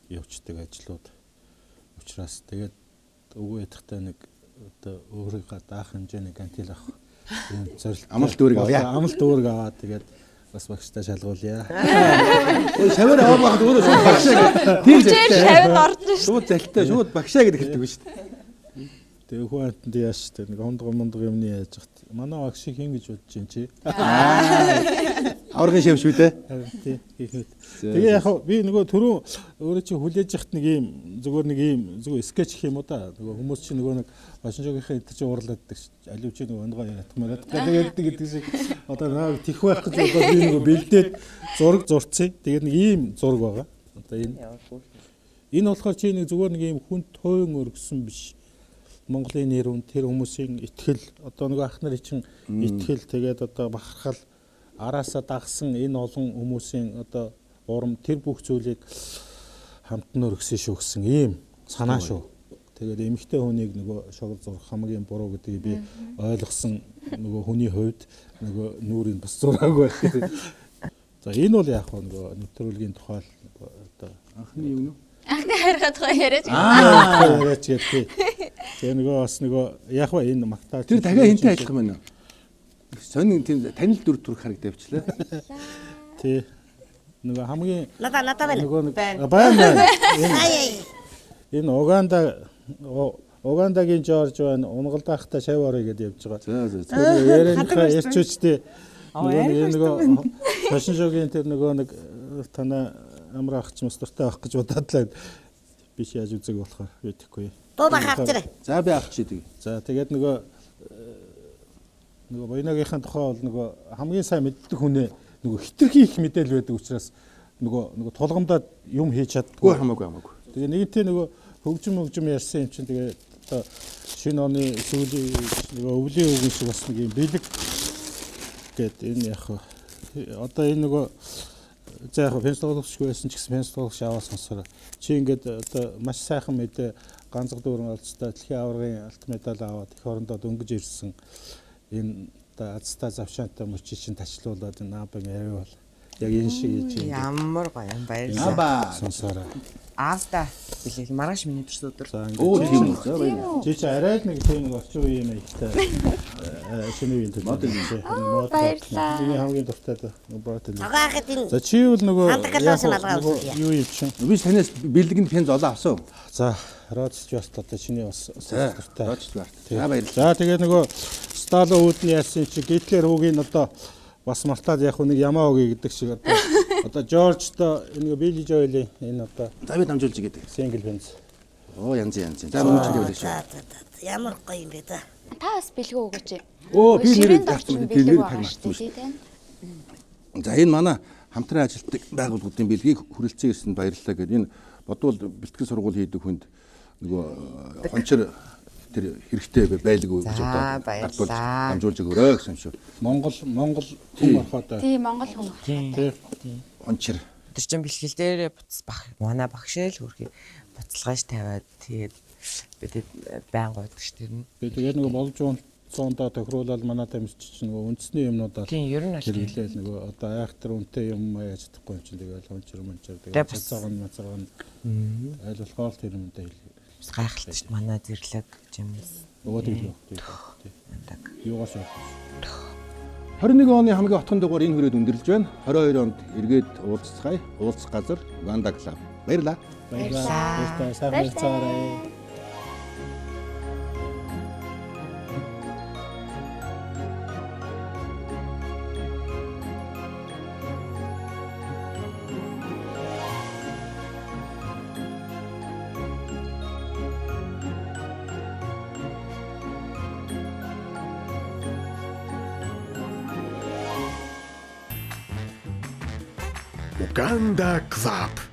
явцдаг ажлууд учраас тэгээд өвөө ятахтай нэг одоо өөрийнхөө даах хэмжээний гантил авах юм зорилт амлалт үүрэг авъя. Амлалт үүрэг аваад тэгээд бас багштай шалгуулъя. Ой шавар аваад байхад өөрөө шууд багшаа гэдэг. Тийм зэлтэй. Шавар орж шүү. Шууд зэлтэй, шууд багшаа гэдэг хэлдэг шүү дээ. Тэгээ хүүхэнд яаш тэ нэг хондго мондго юмны яаж хат. Манай багш шиг хин гэж бодож чинь чи. Аврагын шав шүү дээ. Тий. Тэгээ яг би нөгөө түрүү өөрөө чи хүлээж яхад нэг юм зүгээр нэг юм зүгээр скетч гэх юм уу да. Нөгөө хүмүүс чи нөгөө нэг башинжогийнхаа эдгээр чи уурлаад байдаг ш. Алив чи нөгөө онгоо ятмараад тэгээд гэдэг шиг одоо нэг тих байх гэж бодоод би нөгөө бэлдээд зураг зурцъя. Тэгээд нэг ийм зураг байгаа. Одоо энэ энэ болохоор чи нэг зүгээр нэг юм хүнд тойн өргөсөн биш. Монголын нэр үн тэр хүмүүсийн итгэл одоо нэг ах нарын чинь итгэл тэгээд одоо бахархал араасаа дагсан энэ олон хүмүүсийн одоо урам тэр бүх зүйлийг хамтан өргөсөн шүү гэсэн ийм санаа шүү. Тэгээд эмэгтэй хүнийг нөгөө шогол зурх хамгийн буруу гэдгийг би ойлгосон нөгөө хүний хувьд нөгөө нүрийн бас зураагүй байх. За энэ бол яг нөгөө нэвтрүүлгийн тухай одоо анхны юм уу? Анхны хайргаа тухай яриач. Аа яриач гэдэг. Тэгээ нөгөө бас нөгөө яг ба энэ магтаач. Тэр дахиад хинтэй ажиллах юм байна уу? Сонин тийм танил дүр төрх харагдавчлаа. Тий. Нөгөө хамгийн Надаа надаа байна. нөгөө байна байна. Ай. Энэ Уганда Угандагийн Жорж байна. Унгалд байхдаа шав орё гэдээ явж байгаа. За за. Тэр ярианыхаа ярьчуучдээ нөгөө нөгөө фашин шоугийн тэр нөгөө нэг танаа амар ах ч мас дуртай авах гэж бододлаа. Биш яаж үзэг болохоор мэдэхгүй. Боо бах авчираа. За би авах чийдэг. За тэгээд нөгөө нөгөө Буянагийнхаа тухай бол нөгөө хамгийн сайн мэддэг хүнээ нөгөө хитрхи их мэдээлэл байдаг учраас нөгөө нөгөө тулгамдаад юм хийж чаддгүй хамаагүй хамаагүй. Тэгээ нэгэнтээ нөгөө хөгжим хөгжим ярьсан юм чинь тэгээ одоо шинэ оны сүүлийн нөгөө өвлийн үгэн шиг бас нэг юм бэлэг гэд энэ яг одоо энэ нөгөө за яг фэнстологч байсан ч гэсэн фэнстологч аваа сонсороо чи ингээд одоо маш сайхан мэдээ ганцхан дүүрэн олцтой дэлхийн аваргын алт медаль аваад их орондоо дөнгөж ирсэн энэ одоо азтай завшаантай мөчи чинь тачлуулаад энэ наабын авиа бол яг энэ шиг хийж байна. Ямар гоё юм баярлалаа. Сонсороо. Аавда билээ маргааш миний төрс өдөр. Оо тийм үү. За баярлалаа. Чи чи арай нэг тийм нэг орчин үеийн маягтай шинэ үеийн төдий. Баярлалаа. Миний хамгийн дуртай бот. Агаахад энэ. За чи бол нөгөө Хандгалаас нь алгаа авсан. юу юм чинь. Би танаас бэлгэнд пенз олоо авсан. За Родс ч бас одоо чиний бас дуртай. Родс байна. За баярлалаа. За тэгээд нөгөө Стало үүдний яасан чи Гитлер хүүгийн одоо бас мартаад яг нэг ямаа өгье гэдэг шиг одоо одоо Жоржтой энэ Билли Жоэлийн энэ одоо За би дамжуулж игээд. сингл бенз. Оо янз янз. За мөн ч За шүү. за за. Ямар гоё юм бэ та. Та бас бэлгөө өгөөч. Оо би нэр дорчин бэлэг бэлэг таг байгаа магтсан шүү дээ. За энэ манай хамтран ажилладаг байгууллагуудын бэлгийг хүрэлцэн ирсэнд баярлалаа гэдэг. Энэ бодвол бэлтгэл сургууль хийдэг хүнд нөгөө хончор тэр хэрэгтэй байлгүй гэж одоо гадуурж дамжуулж өгөөрэй гэсэн шүү. Монгол Монгол хүн орохоо Тийм Монгол хүн. тий хончор. Тэр чин бэлтгэл дээрээ буц бах манай багшаал хөрхий буцалгааж тавиад тэгээд бид байн гойдаг ш тэр нь. би тэгээд нөгөө болж зоондоо тохируулаад манай тамирч чинь нөгөө үндэсний юмнуудаа Тийм ер нь аль хэлээл нөгөө одоо айхтар үнэтэй юм яаж чадахгүй юм чинь тэгээд хончор мончор тэгээд цацаагаан мацаагаан айл болохоор тэр юмтай хэлээ. гайхалтай ш манай зэрлэг жимс. Нөгөө тийм тий. Юугаас юу? хорин нэг оны хамгийн отхон дугаар энэ хүрээд өндөрлж байна. хорин хоёр онд эргээд уулзцгаая. Уулзах газар Уганда клуб. Баярлалаа. Баярлалаа. Сайн байцаарай. Uganda Club.